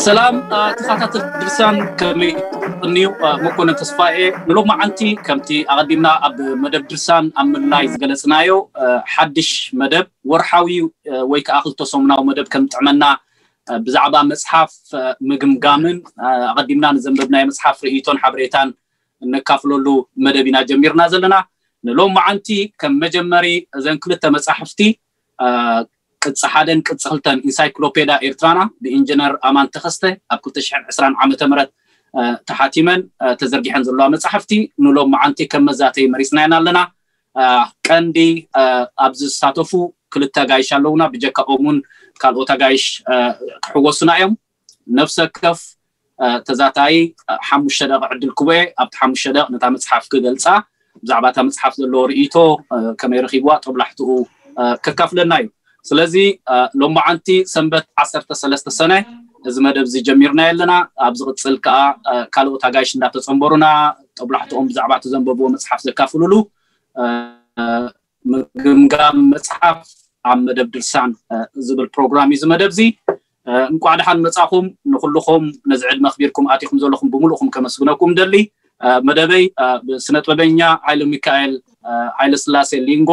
ሰላም ተኸታተልቲ ድርሳን፣ ከመይ ትቕንዩ? መኮነን ተስፋኤ። ንሎማዓንቲ ከምቲ ኣቐዲምና ኣብ መደብ ድርሳን ኣብ ምልላይ ዝገለጽናዮ ሓድሽ መደብ፣ ወርሓዊ ወይ ከዓ ክልተ ሰሙናዊ መደብ ከም ጥዕመና ብዛዕባ መጽሓፍ ምግምጋምን ኣቐዲምና ንዘንበብናዮ መጽሓፍ ርእይቶን ሓበሬታን እነካፍለሉ መደብ ኢና ጀሚርና ዘለና። ንሎማዓንቲ ከም መጀመሪ እዘን ክልተ መጻሕፍቲ ቅጽ ሓደን ቅጽ ክልተን ኢንሳይክሎፔዳ ኤርትራና ብኢንጂነር ኣማን ተኸስተ ኣብ ክልተ ሽሕን ዕስራን ዓመተ ምህረት ተሓቲመን ተዘርጊሐን ዘለዋ መጻሕፍቲ ንሎም መዓንቲ ከም መዛተይ መሪጽናየን ኣለና። ቀንዲ ኣብዚ ዝሳተፉ ክልተ ኣጋይሽ ኣለውና። ብጀካኦም እውን ካልኦት ኣጋይሽ ክሕወሱና እዮም። ነፍሰ ከፍ ተዛታይ ሓሙሽተ ደቂ ዕድል ክቦ ኣብቲ ሓሙሽተ ደቂ ነታ መጽሓፍ ክገልጻ፣ ብዛዕባ እታ መጽሓፍ ዘለዎ ርእይቶ ከመይ ረኺብዋ ጦብላሕትኡ ከካፍለና እዩ። ስለዚ ሎማዓንቲ ሰንበት ዓሰርተ ሰለስተ ሰነ እዚ መደብ እዚ ጀሚርና ኣለና። ኣብ ዝቕጽል ከኣ ካልኦት ኣጋይሽ እንዳተጸንበሩና ጦብላሕትኦም ብዛዕባ እቲ ዘንበብዎ መጽሓፍ ዘካፍሉሉ ምግምጋም መጽሓፍ ኣብ መደብ ድርሳን ዝብል ፕሮግራም እዩ። እዚ መደብ እዚ እንቋዕ ደሓን መጻኹም። ንኹልኹም ነዚ ዕድመ ኣኽቢርኩም ኣቲኹም ዘለኹም ብምሉእኹም ከመስግነኩም ደሊ። መደበይ ብስነ ጥበበኛ ሃይለ ሚካኤል ሃይለ ስላሴ ሊንጎ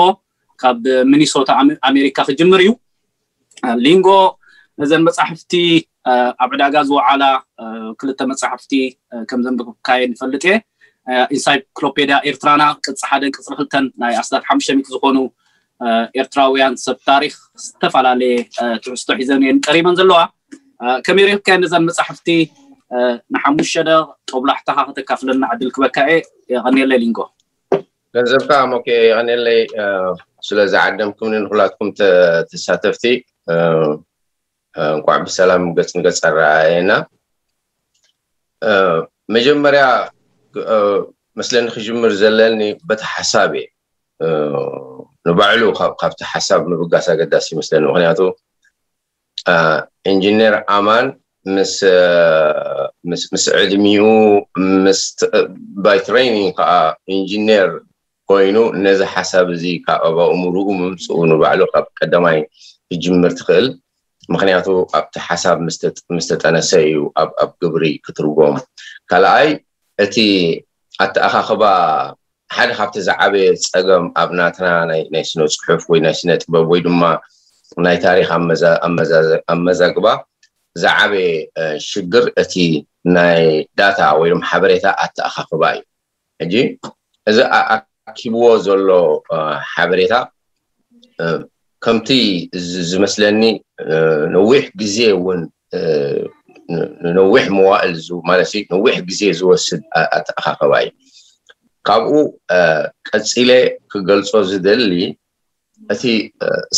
ካብ ሚኒሶታ ኣሜሪካ ክጅምር እዩ። ሊንጎ ነዘን መጻሕፍቲ ኣብ ዕዳጋ ዝወዓላ ክልተ መጻሕፍቲ ከም ዘንብብካየን ይፈልጥ እየ። ኢንሳይክሎፔድያ ኤርትራና ቅጽ ሓደን ቅጽ ክልተን ናይ ኣስታት ሓሙሽተ ሚእቲ ዝኾኑ ኤርትራውያን ሰብ ታሪኽ ዝተፈላለየ ትሕዝቶ ሒዘን እየን ቀሪበን ዘለዋ። ከመይ ረኺብካየን ነዘን መጻሕፍቲ? ንሓሙሽተ ደቕ ጦብላሕታኻ ከተካፍለና ዕድል ክበካ እየ። የቐንየለይ ሊንጎ። ገንዘብካ ሞኬ የቐንየለይ ስለ ዝዓደምኩምኒ ንኩላትኩም ተሳተፍቲ። እንኳዕ ብሰላም ገጽ ንገጽ ኣረኣየና። መጀመርያ መስለኒ ክጅምር ዘለኒ በቲ ሓሳብ እየ። ንባዕሉ ካብቲ ሓሳብ ምብጋስ ኣገዳሲ ይመስለኒ። ምክንያቱ ኢንጂነር ኣማን ምስ ምስ ዕድሚኡ ምስ ባይ ትሬኒንግ ከዓ ኢንጂነር ኮይኑ ነዚ ሓሳብ እዚ ካብ ኣብ ኣእምርኡ ምምፅኡ ንባዕሉ ካብ ቀዳማይ ክጅምር ትኽእል። ምክንያቱ ኣብቲ ሓሳብ ምስ ተጠነሰ እዩ ኣብ ግብሪ ክትርጎም። ካልኣይ እቲ ኣተኣኻኽባ ሓደ ካብቲ ዝዓበየ ፀገም ኣብ ናትና ናይ ስነ ፅሑፍ ወይ ናይ ስነ ጥበብ ወይ ድማ ናይ ታሪክ ኣመዛግባ ዝዓበየ ሽግር እቲ ናይ ዳታ ወይ ድማ ሓበሬታ ኣተኣኻኽባ እዩ። ሕጂ እዚ ኣኪብዎ ዘሎ ሓበሬታ ከምቲ ዝመስለኒ ነዊሕ ግዜ እውን ነዊሕ መዋእል ማለት ነዊሕ ግዜ ዝወስድ ኣተኣኻኸባ እዩ። ካብኡ ቀፂለ ክገልፆ ዝደሊ እቲ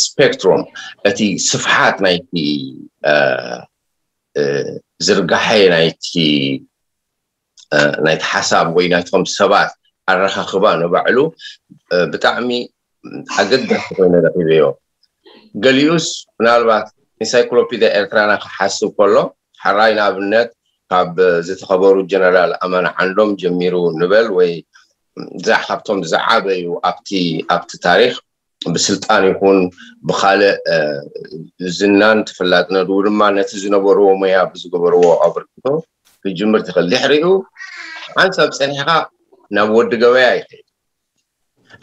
ስፔክትሮም እቲ ስፍሓት ናይቲ ዝርጋሐ ናይቲ ናይቲ ሓሳብ ወይ ናይቶም ሰባት ኣረኻኽባ ንባዕሉ ብጣዕሚ ኣገዳሲ ኮይነ ረኺበዮ። ገሊኡስ ምናልባት ኢንሳይክሎፒድያ ኤርትራና ክሓስብ ከሎ ሓራይ ንኣብነት ካብ ዝተኸበሩ ጀነራል ኣማን ዓንዶም ጀሚሩ ንበል ወይ ካብቶም ዝዓበዩ ኣብቲ ኣብቲ ታሪክ ብስልጣን ይኹን ብካልእ ዝናን ተፈላጥነቱ ድማ ነቲ ዝነበርዎ ሞያ ብዝገበርዎ ኣበርክቶ ክጅምር ትኽእል። ድሕሪኡ ሓንሳብ ፀኒሕካ ናብ ወዲ ገበያ ይኸይድ።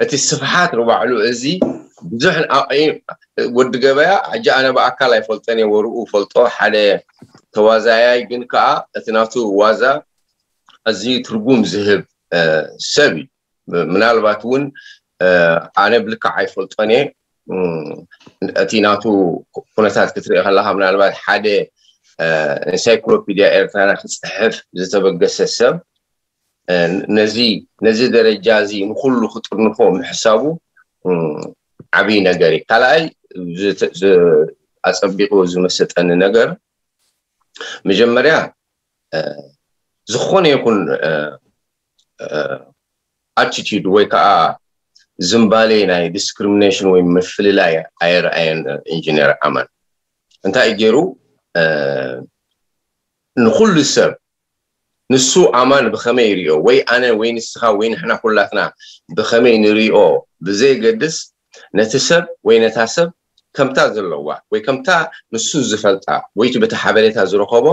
እቲ ስፍሓት ንባዕሉ እዚ ብዙሕ ወዲ ገበያ ሕጂ ኣነ ብኣካል ኣይፈልጦን እየ፣ ወርኡ ፈልጦ ሓደ ተዋዛያይ ግን ከዓ እቲ ናቱ ዋዛ ኣዝዩ ትርጉም ዝህብ ሰብ እዩ። ምናልባት እውን ኣነ ብልክዕ ኣይፈልጦን እየ። እቲ ናቱ ኩነታት ክትርኢ ከለካ ምናልባት ሓደ ኢንሳይክሎፒድያ ኤርትራና ክፅሕፍ ዝተበገሰ ሰብ ነዚ ነዚ ደረጃ እዚ ንኩሉ ክጥርንፎ ምሕሳቡ ዓብዪ ነገር እዩ። ካልኣይ ኣፀቢቑ ዝመሰጠኒ ነገር መጀመርያ ዝኾነ ይኹን ኣቲቲዩድ ወይ ከዓ ዝምባሌ ናይ ዲስክሪሚኔሽን ወይ ምፍልላይ ኣየርኣየን። ኢንጂነር ኣማን እንታይ ገይሩ ንኩሉ ሰብ ንሱ ኣማን ብኸመይ ይሪኦ ወይ ኣነ ወይ ንስኻ ወይ ንሕና ኩላትና ብኸመይ ንሪኦ ብዘየገድስ ነቲ ሰብ ወይ ነታ ሰብ ከምታ ዘለዋ ወይ ከምታ ንሱ ዝፈልጣ ወይ እቲ በቲ ሓበሬታ ዝረኸቦ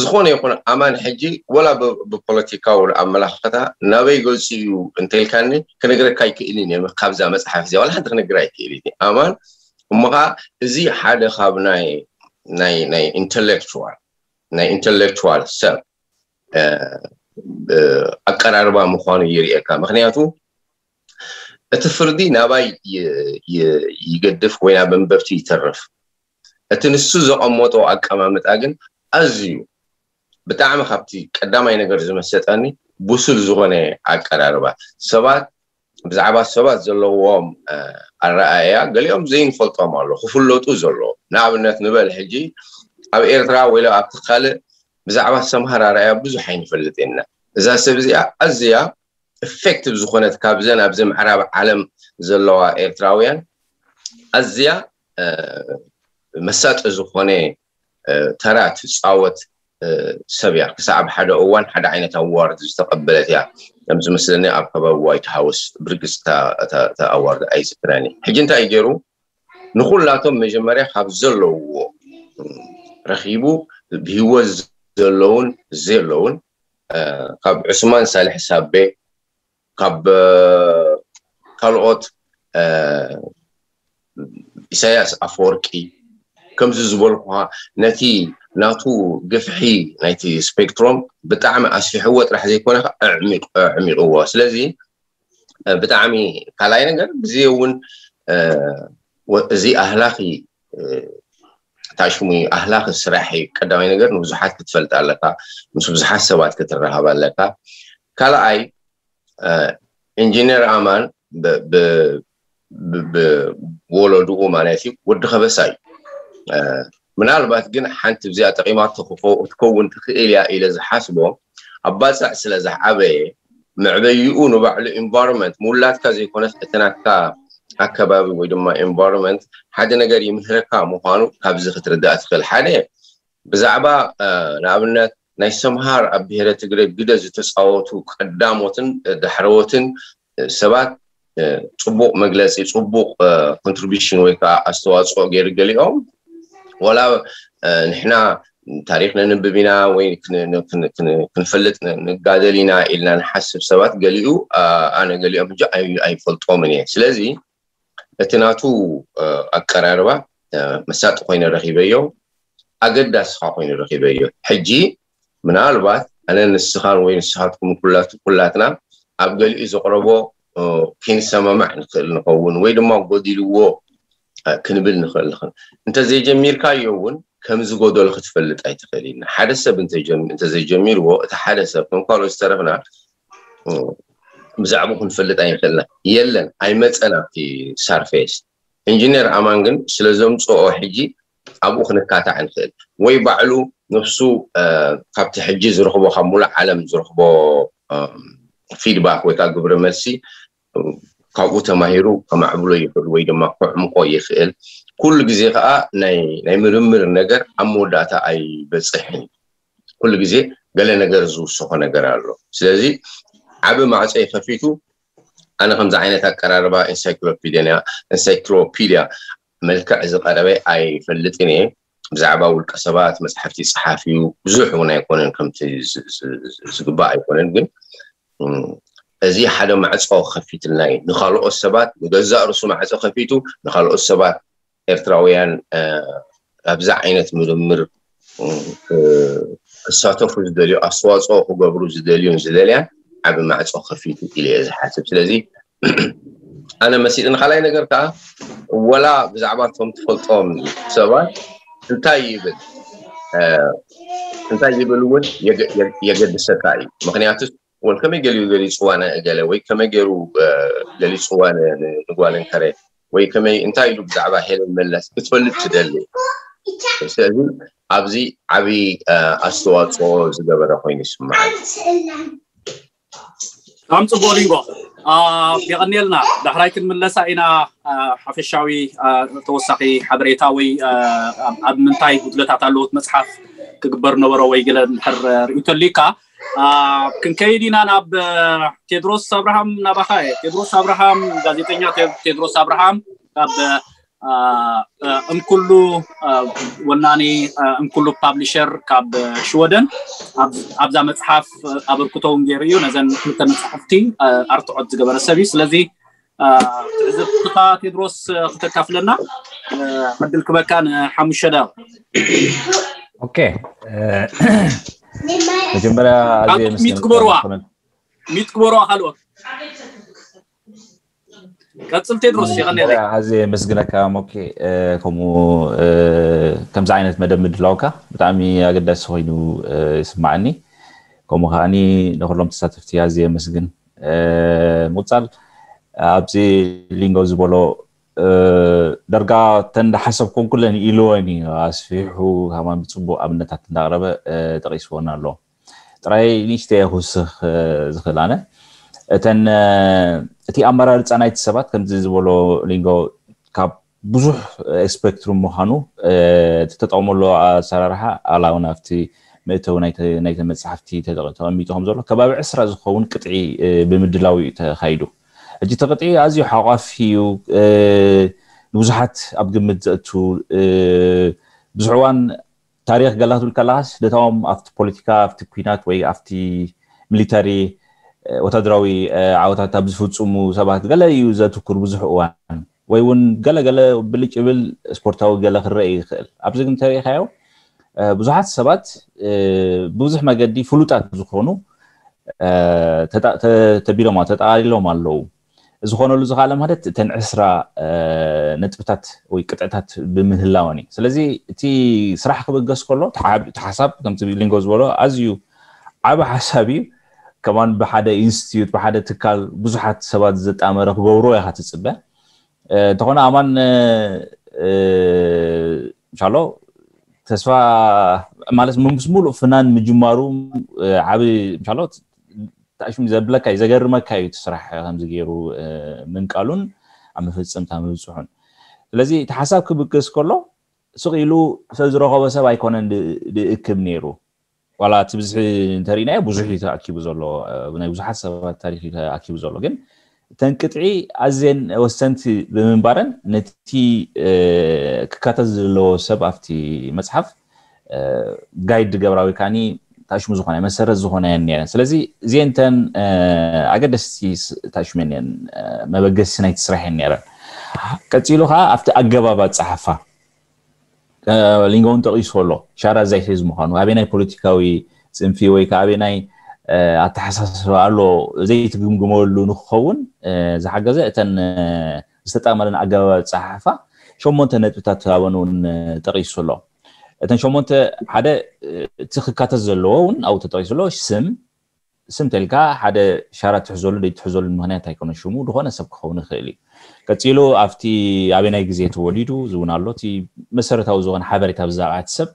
ዝኾነ ይኹን ኣማን ሕጂ ወላ ብፖለቲካዊ ኣመላኽኸታ ናበይ ገፁ እዩ እንተልካኒ ክነግረካ ኣይክእልን እየ። ካብዛ መፅሓፍ እዚኣ ዋላ ሓንቲ ክነግር ኣይክእልን እየ ኣማን። እሞ ከዓ እዚ ሓደ ካብ ናይ ናይ ናይ ኢንተሌክቹዋል ናይ ኢንተሌክቹዋል ሰብ ኣቀራርባ ምዃኑ ይርእየካ። ምክንያቱ እቲ ፍርዲ ናባይ ይገድፍ ወይ ናብ መንበብቲ ይተርፍ። እቲ ንሱ ዘቐመጦ ኣቀማምጣ ግን ኣዝዩ ብጣዕሚ ካብቲ ቀዳማይ ነገር ዝመሰጠኒ ብሱል ዝኾነ ኣቀራርባ። ሰባት ብዛዕባ ሰባት ዘለዎም ኣረኣእያ ገሊኦም ዘይንፈልጦም ኣሎ ክፍለጡ ዘለዎ። ንኣብነት ንበል ሕጂ ኣብ ኤርትራ ወይ ኣብቲ ካልእ ብዛዕባ ሰምሃር ኣረኣእያ ብዙሕ ኣይንፈልጥ ኢና። እዛ ሰብ እዚኣ ኣዝያ ኢፌክቲቭ ዝኾነት ካብዘን ኣብዚ ምዕራብ ዓለም ዘለዋ ኤርትራውያን ኣዝያ መሳጢ ዝኾነ ተራ ትፃወት ሰብ እያ። ክሳብ ሓደ እዋን ሓደ ዓይነት ኣዋርድ ዝተቐበለት እያ። ከም ዝመስለኒ ኣብ ከባቢ ዋይት ሃውስ ብርግፅ እታ ኣዋርድ ኣይዝክረኒ። ሕጂ እንታይ ገይሩ ንኩላቶም መጀመርያ ካብ ዘለውዎ ረኪቡ ብህይወት ዘለውን ዘለውን ካብ ዑስማን ሳልሕ ሳቤ ካብ ካልኦት ኢሳያስ ኣፈወርቂ ከምዚ ዝበልኩኻ ነቲ ናቱ ግፍሒ ናይቲ ስፔክትሮም ብጣዕሚ ኣስፊሕዎ ጥራሕ ዘይኮነ ኣዕሚቕዎ። ስለዚ ብጣዕሚ ካልኣይ ነገር ግዜ እውን እዚ ኣህላኺ ታሽሙ ኣህላኺ ስራሕ እዩ። ቀዳማይ ነገር ንብዙሓት ክትፈልጥ ኣለካ፣ ምስ ብዙሓት ሰባት ክትረሃብ ኣለካ። ካልኣይ ኢንጂነር ኣማን ብወለድኡ ማለት እዩ ወዲ ከበሳ እዩ። ምናልባት ግን ሓንቲ ብዚኣ ጠቂማቶ ክትከውን ትኽእል እያ ኢለ ዝሓስቦ ኣብ ባፅዕ ስለ ዝዓበየ መዕበይኡ ንባዕሉ ኢንቫይሮንመንት ምውላድካ ዘይኮነስ እቲ ናትካ ኣከባቢ ወይ ድማ ኢንቫይሮንመንት ሓደ ነገር ይምህረካ ምዃኑ ካብዚ ክትርዳእ ትኽእል። ሓደ ብዛዕባ ንኣብነት ናይ ሰምሃር ኣብ ብሄረ ትግረ ግደ ዝተፃወቱ ቀዳሞትን ዳሕረዎትን ሰባት ፅቡቕ መግለፂ ፅቡቕ ኮንትሪቢሽን ወይ ከዓ ኣስተዋፅኦ ገይሩ ገሊኦም ዋላ ንሕና ታሪክ ነንብብ ኢና ወይ ክንፈልጥ ንጋደል ኢና ኢልና ንሓስብ ሰባት ገሊኡ ኣነ ገሊኦም ሕጂ ኣይፈልጦምን እየ። ስለዚ እቲ ናቱ ኣቀራርባ መሳጢ ኮይነ ረኪበዮ፣ ኣገዳሲ ከዓ ኮይኑ ረኪበዮ። ሕጂ ምናልባት ኣነ ንስኻን ወይ ንስኻትኩም ኩላትና ኣብ ገሊኡ ዘቕረቦ ክንሰማማዕ ንኽእል ንኸውን ወይ ድማ ጎዲልዎ ክንብል ንኽእል ንኽእል። እንተዘይጀሚርካዮ እውን ከም ዝጎደሎ ክትፈልጥ ኣይትኽእል ኢና። ሓደ ሰብ እንተዘይጀሚርዎ እቲ ሓደ ሰብ ከም ካልኦት ዝተረፍና ብዛዕባኡ ክንፈልጥ ኣይንኽእልና። የለን ኣይመፀን ኣብቲ ሳርፌስ። ኢንጂነር ኣማን ግን ስለ ዘምፅኦ ሕጂ ኣብኡ ክንካታዕ ንኽእል ወይ ባዕሉ ነፍሱ ካብቲ ሕጂ ዝረኽቦ ካብ ሙሉእ ዓለም ዝረኽቦ ፊድባክ ወይ ከዓ ግብረ መልሲ ካብኡ ተማሂሩ ከማዕብሎ ይኽእል ወይ ድማ ከዕምቆ ይኽእል። ኩሉ ግዜ ከዓ ናይ ምርምር ነገር ኣብ መወዳእታ ኣይበፅሕን እዩ። ኩሉ ግዜ ገለ ነገር ዝውስኾ ነገር ኣሎ። ስለዚ ዓቢ ማዕፀ ይኸፊቱ ኣነ ከምዚ ዓይነት ኣቀራርባ ኢንሳይክሎፒድያ ኢንሳይክሎፒድያ መልክዕ ዝቐረበ ኣይፈልጥን እየ። ብዛዕባ ውልቀ ሰባት መፅሓፍቲ ይፅሓፍ እዩ፣ ብዙሕ እውን ኣይኮነን ከምቲ ዝግባእ ኣይኮነን። ግን እዚ ሓደ ማዕፆ ከፊትልና እዩ ንካልኦት ሰባት፣ ንገዛእ ርሱ ማዕፆ ከፊቱ ንካልኦት ሰባት ኤርትራውያን ኣብዛ ዓይነት ምርምር ክሳተፉ ዝደልዩ ኣስተዋፅኦ ክገብሩ ዝደልዩን ዝደልያን ዓቢ ማዕፆ ከፊቱ ኢለ እየ ዝሓስብ። ስለዚ ኣነ መሲጥኒ። ካልኣይ ነገር ከዓ ወላ ብዛዕባ እቶም ትፈልጦም ሰባት እንታይ ይብል እንታይ ይብል እውን የገድሰካ እዩ። ምክንያቱ ወል ከመይ ገሊኡ ገሊፅዋ ንእገለ ወይ ከመይ ገይሩ ገሊፅዋ ንጓል እንከረ ወይ ከመይ እንታይ ኢሉ ብዛዕባ ሄለን መለስ ክትፈልጥ ትደሊ። ስለዚ ኣብዚ ዓብዪ ኣስተዋፅኦ ዝገበረ ኮይኑ ይስምዓኒ። ብጣዕሚ ጽቡቕ ሊንጎ፣ የቐንየልና። ዳሕራይ ክንምለሳ ኢና። ሓፈሻዊ ተወሳኺ ሓበሬታ ወይ ኣብ ምንታይ ጉድለታት ኣለዎት መጽሓፍ ክግበር ነበሮ ወይ ገለ እንድሕር ርእይቶ ኣሊካ፣ ክንከይድ ኢና ናብ ቴድሮስ ኣብርሃም። ናባኻ እየ። ቴድሮስ ኣብርሃም፣ ጋዜጠኛ ቴድሮስ ኣብርሃም ካብ እንኩሉ ወናኒ እንኩሉ ፓብሊሸር ካብ ሽወደን ኣብዛ መጽሓፍ ኣበርክቶ እውን ገይሩ እዩ። ነዘን ክልተ መጽሓፍቲ ኣርትዖት ዝገበረ ሰብ እዩ። ስለዚ ትዕዝብትኻ ቴድሮስ ክተካፍለና ዕድል ክበካ ንሓሙሽተ ደቂቕ። ኦኬ፣ መጀመርያ ኣዝየ ሚት ግበርዋ፣ ሚት ግበርዋ ካልኦት ቀጽል ቴድሮስ፣ የቐንየለይ። ኣዝየ የመስግነካ ሞኬ፣ ከምኡ ከምዚ ዓይነት መደብ ምድላውካ ብጣዕሚ ኣገዳሲ ኮይኑ ይስማዓኒ። ከምኡ ከዓኒ ንኩሎም ተሳተፍቲ ኣዝየ የመስግን። ምቁጻል ኣብዚ ሊንጎ ዝበሎ ደርጋ ተን ዝሓሰብኩን ኩለን ኢልወን እዩ ኣስፊሑ፣ ከማን ብጽቡቕ ኣብነታት እንዳቕረበ ጠቒስወን ኣሎ። ጥራይ ንእሽተይ ክውስኽ ዝኽእል ኣነ እተን እቲ ኣመራርፃ ናይቲ ሰባት ከምዚ ዝበሎ ሊንጎ ካብ ብዙሕ ስፔክትሩም ምዃኑ እቲ ተጠቕመሉ ኣሰራርሓ ኣላውን ኣብቲ መእተዊ ናይተ መፅሓፍቲ ተቐሚጡ ከም ዘሎ ከባቢ ዕስራ ዝኸውን ቅጥዒ ብምድላው እዩ ተኻይዱ። ሕጂ እቲ ቅጥዒ ኣዝዩ ሓቋፊ እዩ። ንብዙሓት ኣብ ግምት ዘእቱ ብዙሕ እዋን ታሪኽ ገላ ክትብል ከለኻስ ነቶም ኣብቲ ፖለቲካ ኣብቲ ኩናት ወይ ኣብቲ ሚሊተሪ ወታደራዊ ዓወታት ኣብ ዝፍፅሙ ሰባት ገለ እዩ ዘትኩር ብዙሕ እዋን ወይ እውን ገለ ገለ ብልጭ ይብል ስፖርታዊ ገለ ክረአ ይኽእል። ኣብዚ ግን ተሪኢኻዮ ብዙሓት ሰባት ብዙሕ መገዲ ፍሉጣት ዝኾኑ ተቢሎም ተጠቓሊሎም ኣለዉ። ዝኾነሉ ዝኽኣለ ማለት እተን ዕስራ ነጥብታት ወይ ቅጥዕታት ብምህላወን እዩ። ስለዚ እቲ ስራሕ ክብገስ ከሎ እቲ ሓሳብ ከምቲ ሊንጎ ዝበሎ ኣዝዩ ዓቢ ሓሳብ እዩ። ከማን ብሓደ ኢንስቲትዩት ብሓደ ትካል ብዙሓት ሰባት ዘጣመረ ክገብርዎ ኢኻ ትፅበ። እንተኾነ ኣማን እንሻሎ ተስፋ ማለት ምስ ሙሉእ ፍናን ምጅማሩ ዓቢ እንሻሎ ታሽም ዘብለካ እዩ ዘገርመካ እዩ እቲ ስራሕ ከምዚ ገይሩ ምንቃሉን ኣብ መፈፀምታ ምብፅሑን። ስለዚ እቲ ሓሳብ ክብገስ ከሎ ስቕ ኢሉ ሰብ ዝረኸቦ ሰብ ኣይኮነን ዝእክብ ነይሩ። ዋላ እቲ ብዝሒ እንተሪእናዮ ብዙሕ እዩ ተኣኪቡ ዘሎ፣ ናይ ብዙሓት ሰባት ታሪክ እዩ ተኣኪቡ ዘሎ። ግን እተን ቅጥዒ ኣዝየን ወሰንቲ ብምንባረን ነቲ ክካተት ዘለዎ ሰብ ኣብቲ መፅሓፍ ጋይድ ገብራዊ ካኒ ታሽሙ ዝኾነ መሰረት ዝኾነ እየን ነረን። ስለዚ እዚአን እተን ኣገደስቲ ታሽመን እየን መበገሲ ናይቲ ስራሕ እየን ነረን። ቀፂሉ ከዓ ኣብቲ ኣገባብ ኣፀሓፋ ሊንጎ እውን ጠቒሱ ኣሎ። ሻራ ዘይሒዝ ምዃኑ ኣበይ ናይ ፖለቲካዊ ፅንፊ ወይ ከዓ ኣበይ ናይ ኣተሓሳስባ ኣሎ ዘይትግምግመሉ ንክኸውን ዝሓገዘ እተን ዝተጣመረን ኣገባብ ኣፀሓሕፋ ሸሞንተ ነጥብታት ኣበን እውን ጠቒሱ ኣሎ። እተን ሸሞንተ ሓደ እቲ ክካተት ዘለዎ እውን ኣብኡ ተጠቒሱ ኣሎ። ስም ስም ተልካ ሓደ ሻራ ትሕዘሉ ዘይትሕዘሉ ምክንያት ኣይኮነ ሽሙ ዝኾነ ሰብ ክኸውን ይኽእል እዩ። ቀፂሉ ኣብቲ ኣበናይ ግዜ ተወሊዱ ዝውን ኣሎ እቲ መሰረታዊ ዝኾነ ሓበሬታ ብዛዕባ እቲ ሰብ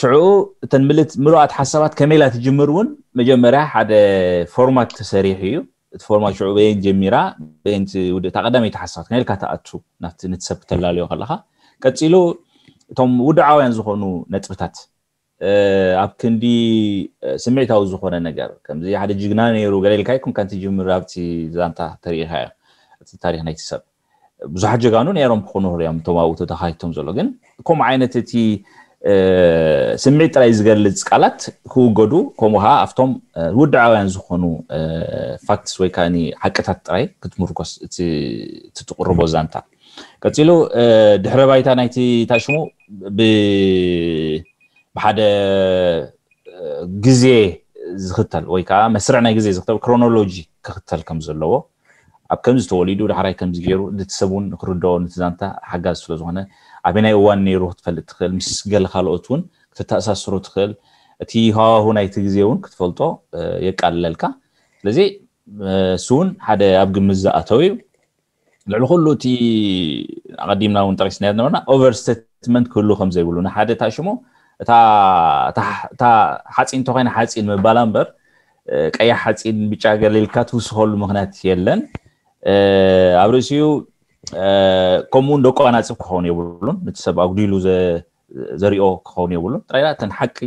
ሽዑ እተን ምልት ምሉኣት ሓሳባት ከመይ ኢላ ትጅምር እውን መጀመርያ ሓደ ፎርማት ተሰሪሑ እዩ። እቲ ፎርማት ሽዑ በየን ጀሚራ በየን ትውድእ እታ ቀዳመይቲ ሓሳባት ከመይ ኢልካ ትኣቱ ናብቲ ንትሰብ ክተላለዮ ከለካ ቀፂሉ እቶም ውድዓውያን ዝኾኑ ነጥብታት ኣብ ክንዲ ስምዒታዊ ዝኾነ ነገር ከምዚ ሓደ ጅግና ነይሩ ገለ ኢልካ ይኩን ካንቲ ጅምር ኣብቲ ዛንታ ተሪኢኻዮ እቲ ታሪክ ናይቲ ሰብ ብዙሓት ጀጋኑ ነይሮም ክኾኑ ይኽእሉ እዮም እቶም ኣብኡ ተተኻይቶም ዘሎ ግን ከምኡ ዓይነት እቲ ስምዒት ጥራይ ዝገልፅ ቃላት ክውገዱ ከምኡ ከዓ ኣብቶም ውድዓውያን ዝኾኑ ፋክትስ ወይ ከዓ ሓቅታት ጥራይ ክትምርኮስ እቲ ትቕርቦ ዛንታ ቀፂሉ ድሕረ ባይታ ናይቲ ታሽሙ ብሓደ ግዜ ዝኽተል ወይ ከዓ መስርዕ ናይ ግዜ ዝኽተል ክሮኖሎጂ ክኽተል ከም ዘለዎ ኣብ ከምዚ ተወሊዱ ዳሕራይ ከምዚ ገይሩ እቲ ሰብ እውን ንክርድኦ ነቲ ዛንታ ሓጋዚ ስለ ዝኾነ ኣበይ ናይ እዋን ነይሩ ክትፈልጥ ትኽእል ምስ ገለ ካልኦት እውን ክትተኣሳስሮ ትኽእል እቲ ሃዋሁ ናይቲ ግዜ እውን ክትፈልጦ የቃልለልካ ስለዚ እሱ እውን ሓደ ኣብ ግምት ዝኣተው እዩ ልዕሊ ኩሉ እቲ ኣቐዲምና እውን ጠቂስና ነበርና ኦቨር ስቴትመንት ክህሉ ከም ዘይብሉ ንሓደ ታሽሙ እታ ሓፂን እንተኮይና ሓፂን ምባላ እምበር ቀያሕ ሓፂን ብጫ ገለ ኢልካ ትውስኸሉ ምክንያት የለን። ኣብ ርእሲኡ ከምኡውን ደቆ ኣናፅብ ክኸውን የብሉን። ነቲ ሰብ ኣጉዲሉ ዘሪኦ ክኸውን የብሉን። ጥራይ እተን ሓቂ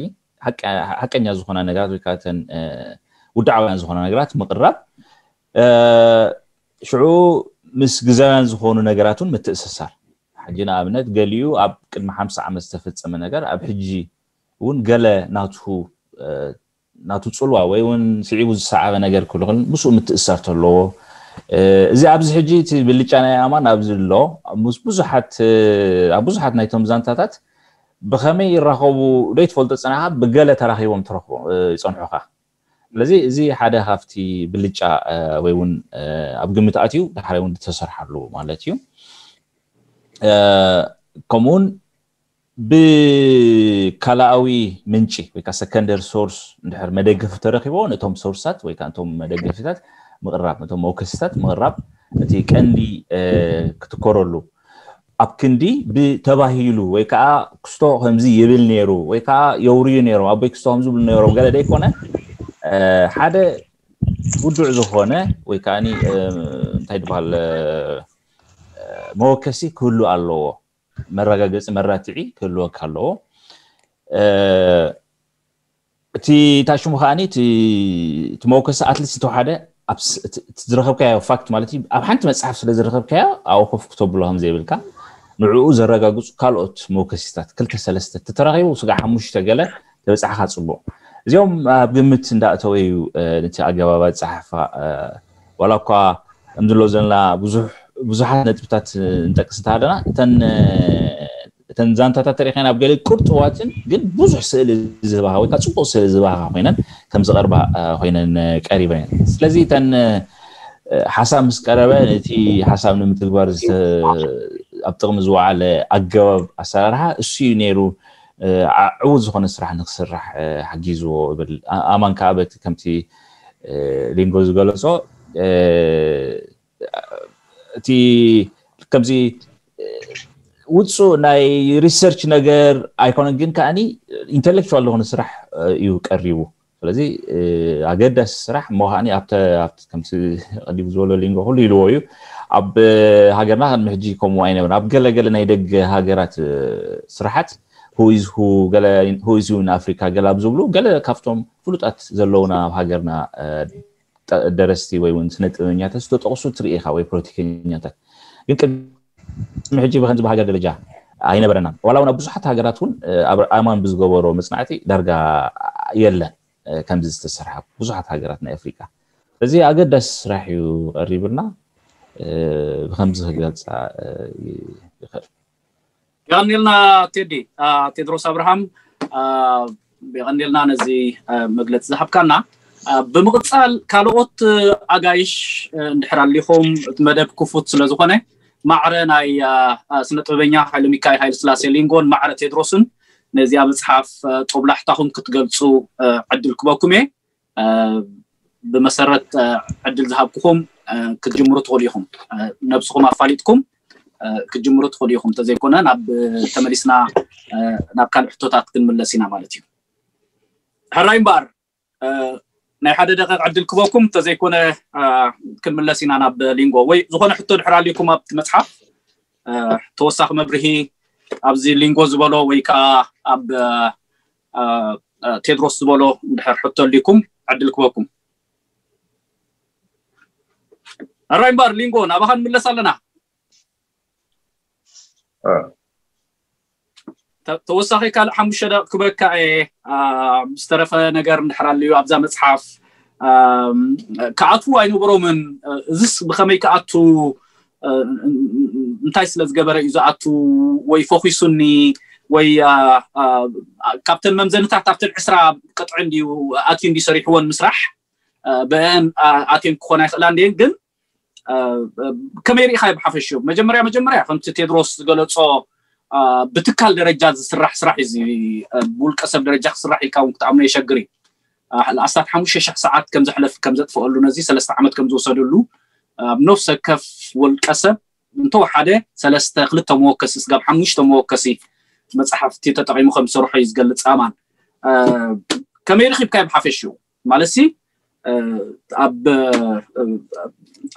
ሓቀኛ ዝኾና ነገራት ወይ ከዓ እተን ውድዓውያን ዝኾና ነገራት ምቕራብ። ሽዑ ምስ ግዛውያን ዝኾኑ ነገራት እውን ምትእስሳር። ሕጂ ንኣብነት ገሊኡ ኣብ ቅድሚ ሓምሳ ዓመት ዝተፈፀመ ነገር ኣብ ሕጂ እውን ገለ ናቱ ናቱ ፅልዋ ወይ እውን ስዒቡ ዝሰዓበ ነገር ክልኽል ምስኡ ምትእሳር ተለዎ። እዚ ኣብዚ ሕጂ እቲ ብልጫ ናይ ኣማን ኣብዚ ኣሎ። ኣብ ብዙሓት ናይቶም ዛንታታት ብኸመይ ይራኸቡ ዘይትፈልጦ ፀናኻ ብገለ ተራኺቦም ይፀንሑኻ። ስለዚ እዚ ሓደ ካብቲ ብልጫ ወይ እውን ኣብ ግምት ኣትዩ ዳሕራይ እውን ዝተሰርሓሉ ማለት እዩ። ከምኡውን ብካልኣዊ ምንጪ ወይ ከዓ ሰከንደር ሶርስ እንድሕር መደገፊ ተረኪቦ ነቶም ሶርሳት ወይ ከዓ ነቶም መደገፊታት ምቕራብ ነቶም መወከሲታት ምቕራብ እቲ ቀንዲ ክትኮረሉ ኣብ ክንዲ ብተባሂሉ ወይ ከዓ ክስቶ ከምዚ ይብል ነይሩ ወይ ከዓ የውርዩ ነይሮም ኣቦይ ክስቶ ከምዚ ይብሉ ነይሮም ገለ ደይኮነ ሓደ ውዱዕ ዝኾነ ወይ ከዓ እንታይ ዝበሃል መወከሲ ክህሉ ኣለዎ። መረጋገፂ መራትዒ ክህልወካ ኣለዎ። እቲ ታሽሙ ከዓኒ እቲ መወከሲ ኣትሊስት ዝተወሓደ ዝረከብካዮ ፋክት ማለት እዩ ኣብ ሓንቲ መፅሓፍ ስለ ዝረከብካዮ ኣብኡ ኮፍ ክተብሎ ከም ዘይብልካ ንዕኡ ዘረጋግፁ ካልኦት መወከሲታት ክልተ ሰለስተ ተተራኪቡ ስጋ ሓሙሽተ ገለ ተበፃሕካ ፅቡቅ። እዚኦም ኣብ ግምት እንዳእተወ እዩ ነቲ ኣገባብ ኣፀሓሕፋ ዋላ እኳ ከምዚ ሎ ዘለና ብዙሓት ነጥብታት ንጠቅስ እንተሃለና እተን ዛንታታት ተሪኸን ኣብ ገለ ቁርጥዋትን ግን ብዙሕ ስእሊ ዝህባኻ ወይ ከዓ ፅቡቅ ስእሊ ዝህባኻ ኮይነን ከም ዝቐርባ ኮይነን ቀሪበን። ስለዚ እተን ሓሳብ ምስ ቀረበ ነቲ ሓሳብ ንምትግባር ኣብ ጥቕሚ ዝወዓለ ኣገባብ ኣሰራርሓ እሱ እዩ ነይሩ። ዕዉት ዝኾነ ስራሕ ንክስራሕ ሓጊዝዎ እብል። ኣማን ከዓ በቲ ከምቲ ሊንጎ ዝገለፆ እቲ ከምዚ ውፁእ ናይ ሪሰርች ነገር ኣይኮነን፣ ግን ከዓኒ ኢንተሌክቹዋል ዝኾነ ስራሕ እዩ ቀሪቡ። ስለዚ ኣገዳሲ ስራሕ እሞ ከዓኒ ኣብቲ ከምቲ ቀዲሙ ዝበሎ ሊንጎ ኩሉ ኢልዎ እዩ። ኣብ ሃገርና ቅድሚ ሕጂ ከምኡ ኣይነበረን። ኣብ ገለገለ ናይ ደገ ሃገራት ስራሓት who is who ገለ who is who in Africa ገለ ኣብ ዝብሉ ገለ ካብቶም ፍሉጣት ዘለውና ኣብ ሃገርና ደረስቲ ወይ እውን ስነ ጥበበኛታት ዝተጠቕሱ ትርኢ ኢኻ ወይ ፖለቲከኛታት ግን ቅድሚ ሕጂ ብከምዚ ብሃገር ደረጃ ኣይነበረናን። ዋላ እውን ኣብ ብዙሓት ሃገራት እውን ኣብ ኣማን ብዝገበሮ መፅናዕቲ ዳርጋ የለን ከምዚ ዝተሰርሐ ብዙሓት ሃገራት ናይ ኣፍሪቃ። እዚ ኣገዳሲ ስራሕ እዩ ቀሪብልና ብከምዚ ክገልፃ ይኽእል። የቐኒልና ቴዲ ቴድሮስ ኣብርሃም የቐኒልና ነዚ መግለፂ ዝሃብካና። ብምቕፃል ካልኦት ኣጋይሽ እንድሕር ኣሊኹም እቲ መደብ ክፉት ስለዝኾነ ማዕረ ናይ ስነ ጥበበኛ ሓይለ ሚካኤል ሓይለ ስላሴ ሊንጎን ማዕረ ቴድሮስን ነዚኣ መፅሓፍ ጦብላሕታኹም ክትገልፁ ዕድል ክበኩም እየ። ብመሰረት ዕድል ዝሃብኩኹም ክትጅምሩ ትኽእሉ ኢኹም። ነብስኹም ኣፋሊጥኩም ክትጅምሩ ትኽእሉ ኢኹም። እንተዘይኮነ ናብ ተመሊስና ናብ ካልእ ሕቶታት ክንምለስ ኢና ማለት እዩ። ሕራይ እምበኣር ናይ ሓደ ደቂቕ ዕድል ክበኩም፣ እንተዘይኮነ ክንምለስ ኢና ናብ ሊንጎ። ወይ ዝኾነ ሕቶ ድሕር ኣልኩም ኣብቲ መፅሓፍ ተወሳኺ መብርሂ ኣብዚ ሊንጎ ዝበሎ ወይ ከዓ ኣብ ቴድሮስ ዝበሎ እንድሕር ሕቶ ኣልኩም ዕድል ክበኩም። ሕራይ እምበኣር ሊንጎ ናባኻ ንምለስ ኣለና። ተወሳኺ ካልእ ሓሙሽተ ደቂቕ ክበካ እየ። ዝተረፈ ነገር እንድሕር ኣልዩ ኣብዛ መፅሓፍ ክኣትዉ ኣይነበሮምን። እዚስ ብኸመይ ክኣቱ እንታይ ስለ ዝገበረ እዩ ዝኣቱ ወይ ፈኺሱኒ ወይ ካብተን መምዘንታት ኣብተን ዕስራ ቅጥዒ እንድዩ ኣትዩ እንድዩ ሰሪሕወን ምስራሕ ብአን ኣትየን ክኾና ይኽእላ እንድየን ግን ከመይ ርኢኻዮ ብሓፈሽኡ? መጀመርያ መጀመርያ ከምቲ ቴድሮስ ዝገለፆ ብትካል ደረጃ ዝስራሕ ስራሕ እዩ። ብውልቀ ሰብ ደረጃ ክስራሕ ኢልካ እውን ክትኣምኖ የሸግር እዩ። ኣስታት ሓሙሽተ ሺሕ ሰዓት ከም ዘሕለፍ ከም ዘጥፈአሉ ነዚ ሰለስተ ዓመት ከም ዝወሰደሉ ኣብ ነፍሰ ከፍ ውልቀ ሰብ እንተወሓደ ሰለስተ ክልተ መወከሲ ስጋብ ሓሙሽተ መወከሲ መፅሓፍቲ ተጠቒሙ ከም ዝሰርሖ እዩ ዝገልፅ ኣማን። ከመይ ረኺብካዮ ብሓፈሽኡ? ማለት ሲ ኣብ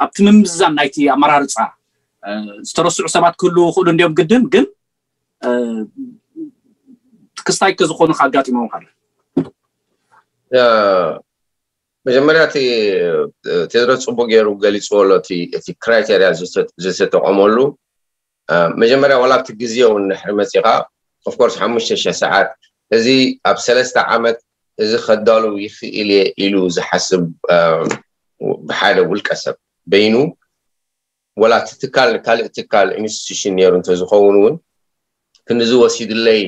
ኣብቲ ምምዝዛን ናይቲ ኣመራርፃ ዝተረስዑ ሰባት ክህልዉ ይኽእሉ እንዲዮም ግድን፣ ግን ክስታይ ከዝኾኑ ኣጋጢሞም ካለ መጀመርያ እቲ ቴድሮስ ፅቡቅ ገይሩ ገሊፅዎ ኣሎ። እቲ ክራይቴርያ ዝተጠቀመሉ መጀመርያ ዋላ ኣብቲ ግዜ እውን ድሕሪ መፂኻ ኦፍኮርስ ሓሙሽተ ሺሕ ሰዓት እዚ ኣብ ሰለስተ ዓመት እዚ ከዳሉ ይኽእል እየ ኢሉ ዝሓስብ ብሓደ ውልቀ ሰብ በይኑ ወላ እቲ ትካል ንካልእ ትካል ኢንስቲቱሽን ነይሩ እንተዝኸውን እውን ክንዚ ወሲድለይ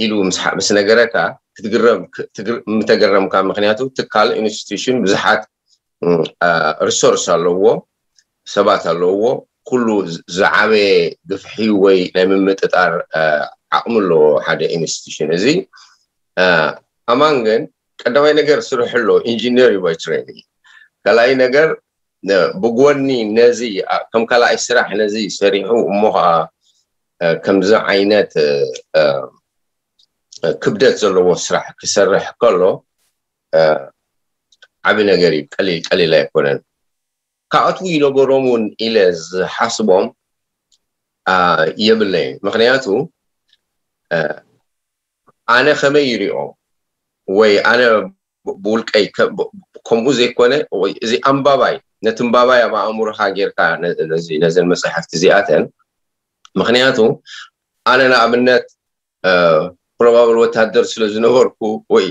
ኢሉ ምስ ነገረካ ክትግረም ምተገረምካ። ምክንያቱ ትካል ኢንስቲቱሽን ብዙሓት ሪሶርስ ኣለዎ፣ ሰባት ኣለዎ። ኩሉ ዝዓበየ ግፍሒ ወይ ናይ ምምጥጣር ዓቕሚ ኣለዎ ሓደ ኢንስቲቱሽን። እዚ ኣማን ግን ቀዳማይ ነገር ስርሑ ኣሎ፣ ኢንጂነር እዩ ባይ ትሬኒንግ። ካልኣይ ነገር ብጎኒ ነዚ ከም ካልኣይ ስራሕ ነዚ ሰሪሑ እሞ ከዓ ከምዚ ዓይነት ክብደት ዘለዎ ስራሕ ክሰርሕ ከሎ ዓቢ ነገር እዩ። ቀሊል ቀሊል ኣይኮነን። ካብኣቱ ይነበሮም እውን ኢለ ዝሓስቦም የብለይን። ምክንያቱ ኣነ ከመይ ይሪኦ ወይ ኣነ ብውልቀይ ከምኡ ዘይኮነ እዚ ኣንባባይ ነቲ ኣንባባይ ኣብ ኣእምሮካ ጌርካ ነዘን መፅሓፍቲ እዚኣተን ምክንያቱ ኣነ ንኣብነት ፕሮባብል ወታደር ስለ ዝነበርኩ ወይ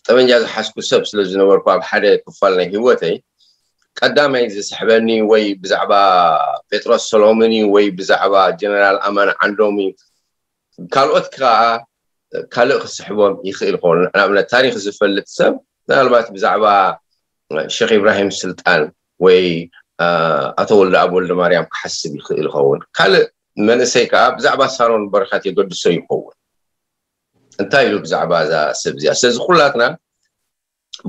ጠበንጃ ዝሓዝኩ ሰብ ስለ ዝነበርኩ ኣብ ሓደ ክፋል ናይ ህይወተይ ቀዳማይ ዝስሕበኒ ወይ ብዛዕባ ጴጥሮስ ሰሎሞን እዩ ወይ ብዛዕባ ጀነራል ኣማን ዓንዶም እዩ። ካልኦት ከዓ ካልእ ክስሕቦም ይኽእል ይኸውን። ንኣብነት ታሪክ ዝፈልጥ ሰብ ምናልባት ብዛዕባ ሸክ ኢብራሂም ስልጣን ወይ ኣቶ ወልደ ኣብ ወልደ ማርያም ክሓስብ ይኽእል ይኸውን። ካልእ መንእሰይ ከዓ ብዛዕባ ሳሮን በረኸት የገድሶ ይኸውን። እንታይ ኢሉ ብዛዕባ እዛ ሰብ እዚኣ? ስለዚ ኩላትና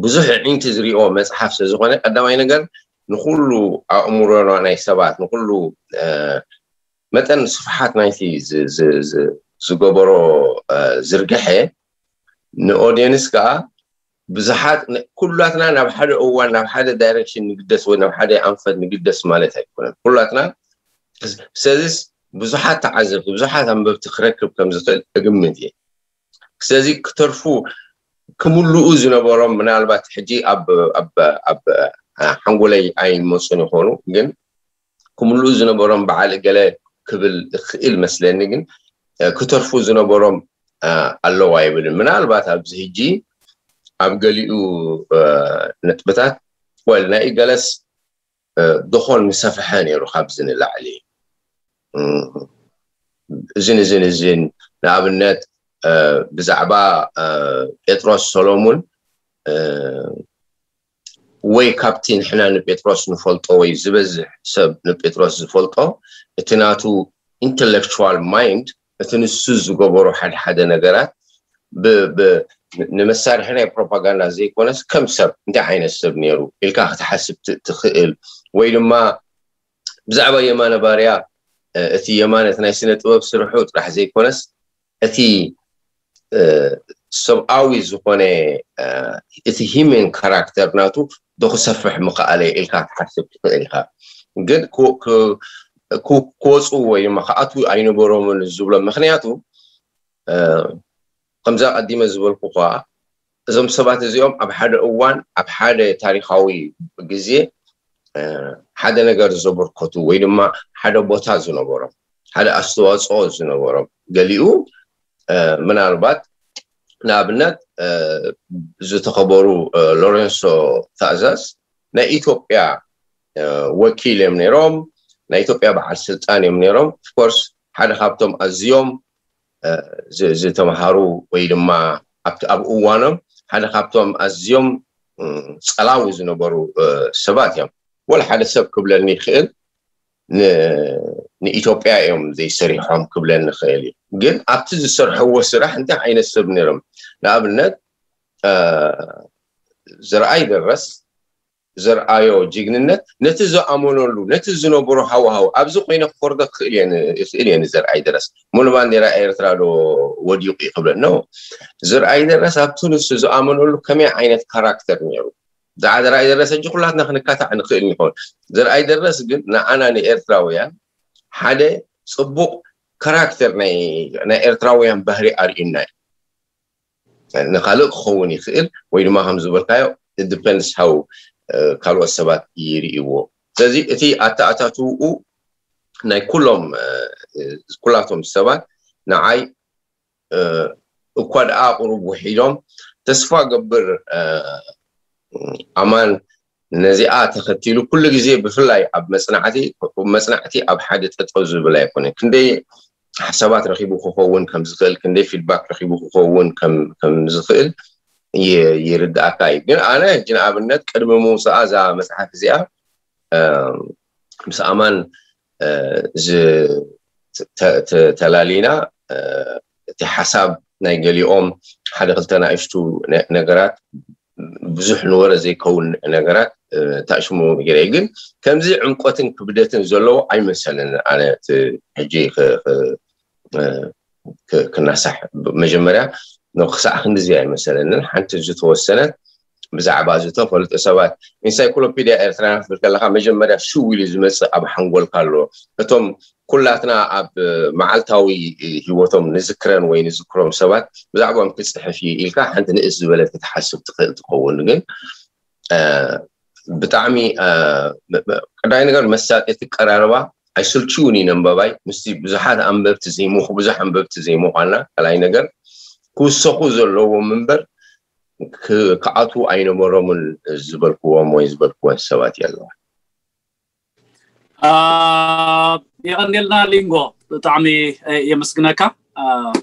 ብዙሕ ዕንቲ ዝሪኦ መፅሓፍ ስለዝኾነ ቀዳማይ ነገር ንኩሉ ኣእምሮና ናይ ሰባት ንኩሉ መጠን ስፍሓት ናይቲ ዝገበሮ ዝርግሐ ንኦዲየንስ ከዓ ብዙሓት ኩላትና ናብ ሓደ እዋን ናብ ሓደ ዳይሬክሽን ንግደስ ወይ ናብ ሓደ ኣንፈት ንግደስ ማለት ኣይኮነን። ኩላትና ስለዚስ ብዙሓት ተዓዘብቲ ብዙሓት ኣንበብቲ ክረክብ ከም ዝኽእል እግምት እየ። ስለዚ ክተርፉ ክምልኡ ዝነበሮም ምናልባት ሕጂ ኣብ ሓንጎለይ ኣይመፁን ይኾኑ ግን ክምልኡ ዝነበሮም በዓል ገለ ክብል እኽእል መስለኒ ግን ክተርፉ ዝነበሮም ኣለዋ ይብልን ምናልባት ኣብዚ ሕጂ ኣብ ገሊኡ ነጥብታት ወል ናይ ገለስ ደኾን ምሰፍሐ ነይሩ ካብዚ ንላዕሊ እዝን እዝን እዝን ንኣብነት ብዛዕባ ጴጥሮስ ሰሎሙን ወይ ካብቲ ንሕና ንጴጥሮስ ንፈልጦ ወይ ዝበዝሕ ሰብ ንጴጥሮስ ዝፈልጦ እቲ ናቱ ኢንተሌክቹዋል ማይንድ እቲ ንሱ ዝገበሮ ሓደ ሓደ ነገራት ንመሳርሒ ናይ ፕሮፓጋንዳ ዘይኮነስ ከም ሰብ እንታይ ዓይነት ሰብ ነይሩ ኢልካ ክትሓስብ ትኽእል ወይ ድማ ብዛዕባ የማነ ባርያ እቲ የማነ እቲ ናይ ስነ ጥበብ ስርሑ ጥራሕ ዘይኮነስ እቲ ሰብኣዊ ዝኾነ እቲ ሂሜን ካራክተር ናቱ ዶ ክሰፍሕ ምኽኣለ ኢልካ ክትሓስብ ትኽእል ኢኻ። ግን ክወፁ ወይ ድማ ክኣትዉ ኣይነበሮምን ዝብሎ ምክንያቱ ከምዛ ቀዲመ ዝበልኩ ኳ እዞም ሰባት እዚኦም ኣብ ሓደ እዋን ኣብ ሓደ ታሪካዊ ግዜ ሓደ ነገር ዘበርከቱ ወይ ድማ ሓደ ቦታ ዝነበሮም ሓደ ኣስተዋፅኦ ዝነበሮም ገሊኡ ምናልባት ንኣብነት ዝተኸበሩ ሎሬንሶ ታእዛዝ ናይ ኢትዮጵያ ወኪል እዮም ነይሮም። ናይ ኢትዮጵያ በዓል ስልጣን እዮም ነይሮም። ኦፍኮርስ ሓደ ካብቶም ኣዝዮም ዝተምሃሩ ወይ ድማ ኣብቲ ኣብ እዋኖም ሓደ ካብቶም ኣዝዮም ፀላዊ ዝነበሩ ሰባት እዮም። ወላ ሓደ ሰብ ክብለኒ ይኽእል ንኢትዮጵያ እዮም ዘይሰሪሖም ክብለኒ ይኽእል እዩ። ግን ኣብቲ ዝሰርሕዎ ስራሕ እንታይ ዓይነት ሰብ ነይሮም? ንኣብነት ዘርኣይ ደረስ ዘርኣዮ ጅግንነት ነቲ ዝኣመነሉ ነቲ ዝነበሮ ሃዋሃው ኣብዚ ኮይነ ክፈርዶ ክኽእል እየ ይኽእል እየ ንዘርኣይ ደረስ ሙሉ ባንዴራ ኤርትራ ዶ ወዲቑ እዩ ክብለ ኖ ዘርኣይ ደረስ ኣብቲ ንሱ ዝኣመነሉ ከመይ ዓይነት ካራክተር ነይሩ ብዛዕባ ዘርኣይ ደረሰ እንጂ ኩላትና ክንካታዕ ንኽእል ንኸውን። ዘርኣይ ደረስ ግን ንዓና ንኤርትራውያን ሓደ ጽቡቕ ካራክተር ናይ ናይ ኤርትራውያን ባህሪ ኣርእዩና እዩ። ንኻልእ ክኸውን ይኽእል ወይ ድማ ከም ዝበልካዮ it depends how ካልኦት ሰባት ይርእይዎ። ስለዚ እቲ ኣተኣታትውኡ ናይ ኩሎም ኩላቶም ሰባት ንዓይ እኳ ደኣ ቁሩብ ውሒዶም ተስፋ ገብር ኣማን ነዚኣ ተኸቲሉ ኩሉ ግዜ ብፍላይ ኣብ መጽናዕቲ መጽናዕቲ ኣብ ሓደ ጠጠው ዝብል ኣይኮነን። ክንደይ ሓሳባት ረኺቡ ክኸውን ከም ዝኽእል፣ ክንደይ ፊድባክ ረኺቡ ክኸውን ከም ከም ዝኽእል ይ- ይርድኣካ እዩ። ግን ኣነ ሕጂ ንኣብነት ቅድሚ ምውፅኣ እዛ መጽሓፍ እዚኣ ምስ ኣማን ዝ- ተ- ተ- ተላሊና እቲ ሓሳብ ናይ ገሊኦም ሓደ ክልተ ናእሽቱ ነገራት ብዙሕ ንወረ ዘይከውን ነገራት ታሽሙ ገይረ ግን ከምዚ ዕምቆትን ክብደትን ዘለዎ ኣይመሰልን። ኣነ ሕጂ ክናሳሕ መጀመርያ ክሳዕ ክንድዚ ኣይመሰለንን። ሓንቲ ዝተወሰነት ብዛዕባ ዝተፈልጡ ሰባት ኢንሳይክሎፒድያ ኤርትራና ክትብል ከለካ መጀመርያ ሽው ኢሉ ዝመፅእ ኣብ ሓንጎልካ ኣሎ። እቶም ኩላትና ኣብ መዓልታዊ ሂወቶም ንዝክረን ወይ ንዝክሮም ሰባት ብዛዕባኦም ክፅሕፍ እዩ ኢልካ ሓንቲ ንእስ ዝበለት ክትሓስብ ትኽእል ትኸውን። ግን ብጣዕሚ ቀዳይ ነገር መሳጢ እቲ ቀራርባ ኣይስልችውን እዩ ነንበባይ ምስቲ ብዙሓት ኣንበብቲ ዘይምኹ ብዙሕ ኣንበብቲ ዘይምዃና ካልኣይ ነገር ክውሰኹ ዘለዎም እምበር ክኣትዉ ኣይነበሮምን ዝበልክዎም ወይ ዝበልክወን ሰባት የለዋ። የቐንየልና ሊንጎ፣ ብጣዕሚ የመስግነካ።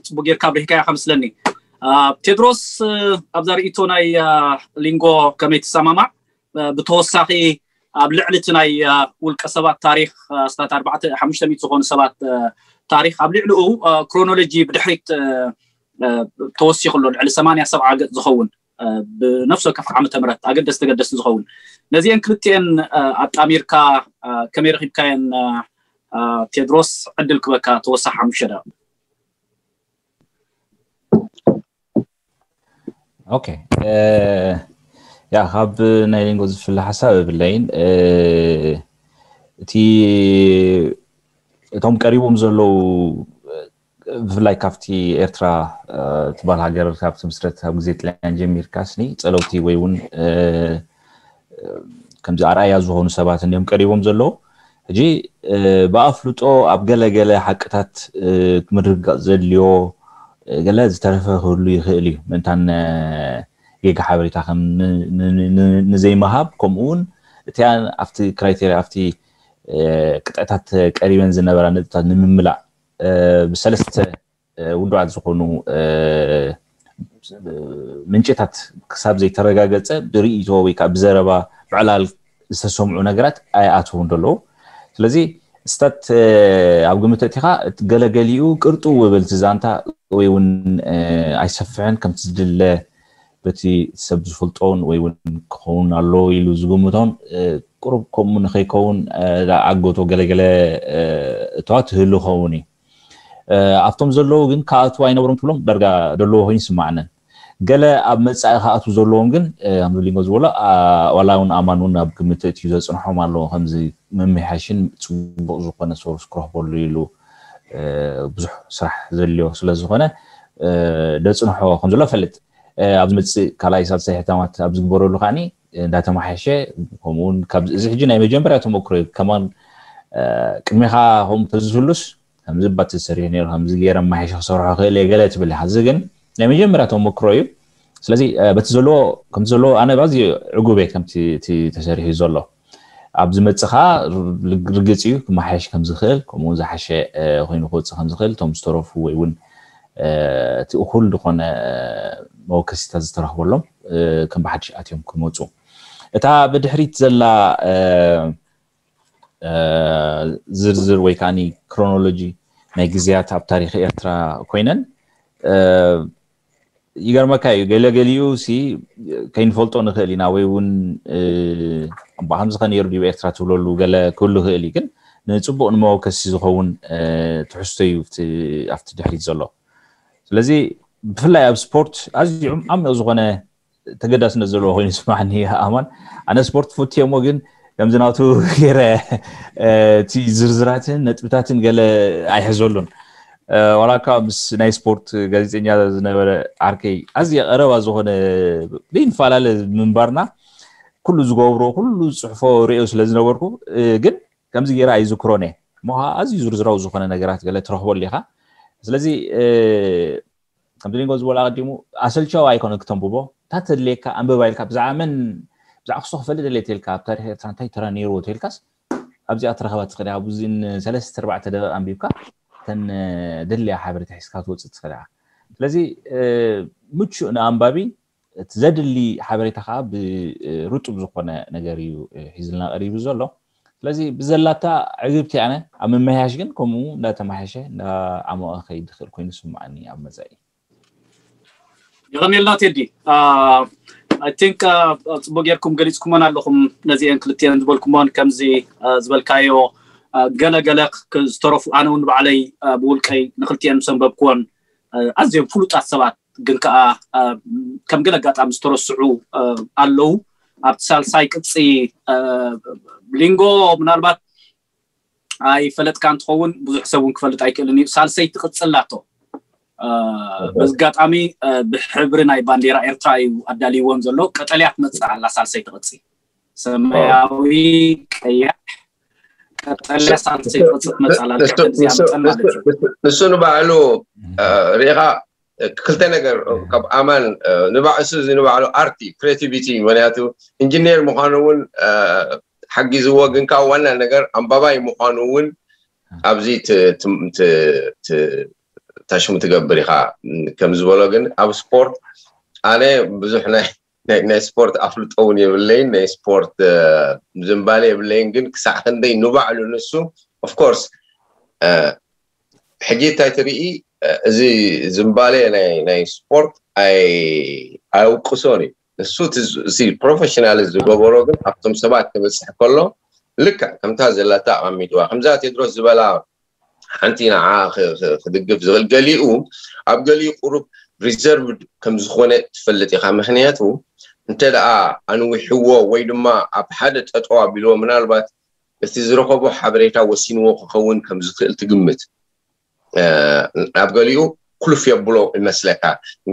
ፅቡቅ ጌርካ ኣብሪህካያ ከምስለኒ። ቴድሮስ፣ ኣብዛ ርእቶ ናይ ሊንጎ ከመይ ትሰማማዕ? ብተወሳኺ ኣብ ልዕሊ እቲ ናይ ውልቀ ሰባት ታሪክ ኣስታት ኣርባዕተ ሓሙሽተ ሚእቲ ዝኾኑ ሰባት ታሪክ ኣብ ልዕሊኡ ክሮኖሎጂ ብድሕሪት ተወሲኹ ኣሎ፣ ልዕሊ ሰማንያ ሰብዓ ገጽ ዝኸውን ብነፍሲ ወከፍ ዓመተ ምህረት ኣገደስቲ ኣገደስቲ ዝኸውን። ነዚአን ክልቲአን ኣጣሚርካ ከመይ ረኺብካየን ቴድሮስ? ዕድል ክበካ ተወሳኺ ሓሙሽተ ደቂቕ። ኦኬ፣ ያ ካብ ናይ ሊንጎ ዝፍለ ሓሳብ የብለይን። እቲ እቶም ቀሪቦም ዘለዉ ብፍላይ ካብቲ ኤርትራ ትበሃል ሃገር ካብ ትምስረት ካብ ግዜ ጥልያን ጀሚርካ ስኒ ጸለውቲ ወይ እውን ከምዚ ኣርኣያ ዝኾኑ ሰባት እንዲዮም ቀሪቦም ዘለዉ። ሕጂ ብኣፍልጦ ኣብ ገለ ገለ ሓቅታት ምርግጋጽ ዘድልዮ ገለ ዝተረፈ ክህሉ ይኽእል እዩ። ምእንታን ጌጋ ሓበሬታ ከም ንዘይምሃብ ከምኡ እውን እቲኣ ኣብቲ ክራይቴርያ ኣብቲ ቅጥዕታት ቀሪበን ዝነበራ ነጥብታት ንምምላእ ብሰለስተ ውዱዓት ዝኾኑ ምንጭታት ክሳብ ዘይተረጋገጸ ብርእይቶ ወይ ከዓ ብዘረባ ብዕላል ዝተሰምዑ ነገራት ኣይኣትውን ዘለዉ። ስለዚ ስታት ኣብ ግምት እቲኻ ገለገሊኡ ቅርጡ ውብል ዛንታ ወይ እውን ኣይሰፍሕን ከምቲ ዝድለ በቲ ሰብ ዝፈልጦን ወይ እውን ክኸውን ኣሎ ኢሉ ዝግምቶን ቁሩብ ከምኡ ንኸይከውን ኣጎቶ ገለገለ እተዋ ትህሉ ኸውን እዩ። ኣብቶም ዘለዉ ግን ከኣትዉ ኣይነብሮም ትብሎም ዳርጋ ደለዎ ኮይኑ ይስማዕንን። ገለ ኣብ መጻኢ ከኣትዉ ዘለዎም ግን ከምዚ ሊንጎ ዝበሎ ዋላ እውን ኣማን እውን ኣብ ግምት እትዩ ዘጽንሖም ኣለዎ። ከምዚ ምምሕያሽን ጽቡቕ ዝኾነ ሶርስ ክረኽበሉ ኢሉ ብዙሕ ስራሕ ዘድልዮ ስለ ዝኾነ ደጽንሖ ከም ዘሎ ፈልጥ። ኣብ ዝመጽእ ካልኣይ ሳልሳይ ሕታማት ኣብ ዝግበረሉ ከዓኒ እንዳተማሓሸ ከምኡውን ካብ እዚ ሕጂ ናይ መጀመርያ ተመክሮ እዩ። ከማን ቅድሜኻ ከምኡ ተዝህሉስ ከምዚ ባት ዝሰሪሕ ነይሩ ከምዚ ገይረ ማሓይሽ ክሰርሖ ክእል እየ ገለ ትብል ኢኻ። እዚ ግን ናይ መጀመርያ ተመክሮ እዩ። ስለዚ በቲ ዘለዎ ከምቲ ዘለዎ ኣነ ባዚ ዕጉብ እየ ከምቲ እቲ ተሰሪሑ ዘሎ ኣብ ዝመጽኻ ርግጽ እዩ ክመሓየሽ ከም ዝኽእል ከምኡ ዝሓሸ ኮይኑ ክወጽእ ከም ዝኽእል እቶም ዝተረፉ ወይ እውን እቲ እኹል ዝኾነ መወከሲታት ዝተረኽበሎም ከም ብሓድሽ ኣትዮም ክመፁ እታ ብድሕሪት ዘላ ዝርዝር ወይ ከዓ ክሮኖሎጂ ናይ ግዜያት ኣብ ታሪክ ኤርትራ ኮይነን ይገርመካ እዩ ገለገሊኡ ሲ ከይንፈልጦ ንኽእል ኢና ወይ እውን እባ ከምዚ ከ ነይሩ ድዩ ኤርትራ ትብለሉ ገለ ክህሉ ይኽእል እዩ ግን ንፅቡቅ ንመወከሲ ዝኸውን ትሕዝቶ እዩ ኣብቲ ድሕሪት ዘሎ ስለዚ ብፍላይ ኣብ ስፖርት ኣዝዩ ዓሚቕ ዝኾነ ተገዳስነት ዘለዎ ኮይኑ ይስማዕኒ። ኣማን ኣነ ስፖርት ፈትየ እሞ ግን ከምዚ ናቱ ገይረ እቲ ዝርዝራትን ነጥብታትን ገለ ኣይሕዘሉን። ዋላ እኳ ምስ ናይ ስፖርት ጋዜጠኛ ዝነበረ ዓርከይ ኣዝየ ቀረባ ዝኾነ ዘይንፈላለ ምንባርና ኩሉ ዝገብሮ ኩሉ ዝፅሕፎ ርእዮ ስለ ዝነበርኩ ግን ከምዚ ገይረ ኣይዝክሮን እየ። እሞ ኣዝዩ ዝርዝራዊ ዝኾነ ነገራት ገለ ትረኽበሉ ኢኻ። ስለዚ ከምቲ ሊንጎ ዝበሎ ኣቐዲሙ ኣሰልቻዊ ኣይኮነ ክተንብቦ። እታ ተድልየካ ኣንብባ ኢልካ ብዛዕባ መን ብዛዕባ ክስቶ ክፈልጥ ደልየ ተልካ ኣብ ታሪክ ኤርትራ እንታይ ተራ ነይርዎ ተልካስ ኣብዚኣ ትረኸባ ትኽእል ኢኻ። ብዙን ሰለስተ ኣርባዕተ ደቂቕ ኣንቢብካ እተን ደልያ ሓበሬታ ሒዝካ ትወፅእ ትኽእል ኢኻ። ስለዚ ምቹእ ንኣንባቢ እቲ ዘድሊ ሓበሬታ ከዓ ብርጡብ ዝኾነ ነገር እዩ ሒዝልና ቀሪቡ ዘሎ። ስለዚ ብዘላታ ዕግብቲ ኣነ ኣብ ምምሕያሽ ግን ከምኡ እንዳተማሓሸ እንዳዓሞቐ ከይድ ዝኽእል ኮይኑ ስማዓኒ ኣብ መፃኢ። የቐኔልና ቴዲ። I think ጽቡቅ ጌርኩም ገሊጽኩመን ኣለኹም። ነዚአን ክልቲአን ዝበልኩመን ከምዚ ዝበልካዮ ገለ ገለ ዝተረፉ ኣነ እውን ባዕለይ ብውልቀይ ንክልቲአን ምስ ኣንበብኩወን ኣዝዮም ፍሉጣት ሰባት ግን ከዓ ከም ገለ ኣጋጣሚ ዝተረስዑ ኣለዉ። ኣብቲ ሳልሳይ ቅፂ ሊንጎ ምናልባት ኣይፈለጥካ እንትኸውን ብዙሕ ሰብ እውን ክፈልጥ ኣይክእልን እዩ። ሳልሰይቲ ቅፅላቶ በዚ ኣጋጣሚ ብሕብሪ ናይ ባንዴራ ኤርትራ እዩ ኣዳልይዎን ዘሎ። ቀጠልያ ትመፅእ ኣላ ሳልሰይቲ ቅፂ፣ ሰማያዊ፣ ቀያሕ፣ ቀጠልያ ሳልሰይቲ ቅፂ ትመፅእ ኣላ። ልክዕ ከምዚኣ መጠን ማለት እዩ። ንሱ ንባዕሉ ርኢኻ ክልተ ነገር ካብ ኣማን ንባዕሱ እዚ ንባዕሉ ኣርቲ ክሬቲቪቲ ምክንያቱ ኢንጂኒር ምዃኑ እውን ሓጊዝዎ ግን ካብ ዋና ነገር ኣንባባይ ምዃኑ እውን ኣብዚ ታሽሙ ትገብር ኢኻ ከም ዝበሎ ግን ኣብ ስፖርት ኣነ ብዙሕ ናይ ናይ ስፖርት ኣፍልጦ እውን የብለይን ናይ ስፖርት ዝንባለ የብለይን ግን ክሳዕ ክንደይ ንባዕሉ ንሱ ኦፍኮርስ ሕጂ እንታይ ትርኢ እዚ ዝንባለ ናይ ስፖርት ኣይውቅሶን እዩ ንሱ እቲ ፕሮፌሽናል ዝገበሮ ግን ኣብቶም ሰባት ክበፅሕ ከሎ ልክዕ ከምታ ዘለታ ኣቐሚጥዋ ከምዛ ቴድሮስ ዝበላ ሓንቲ ንዓ ክድግፍ ዝኽእል ገሊኡ ኣብ ገሊኡ ቁሩብ ሪዘርቭድ ከም ዝኾነ ትፈልጥ ኢኻ ምክንያቱ እንተ ደኣ ኣንዊሕዎ ወይ ድማ ኣብ ሓደ ጠጠው ኣቢልዎ ምናልባት እቲ ዝረኸቦ ሓበሬታ ወሲንዎ ክኸውን ከም ዝኽእል ትግምት ኣብ ገሊኡ ኩልፍ የብሎ ይመስለካ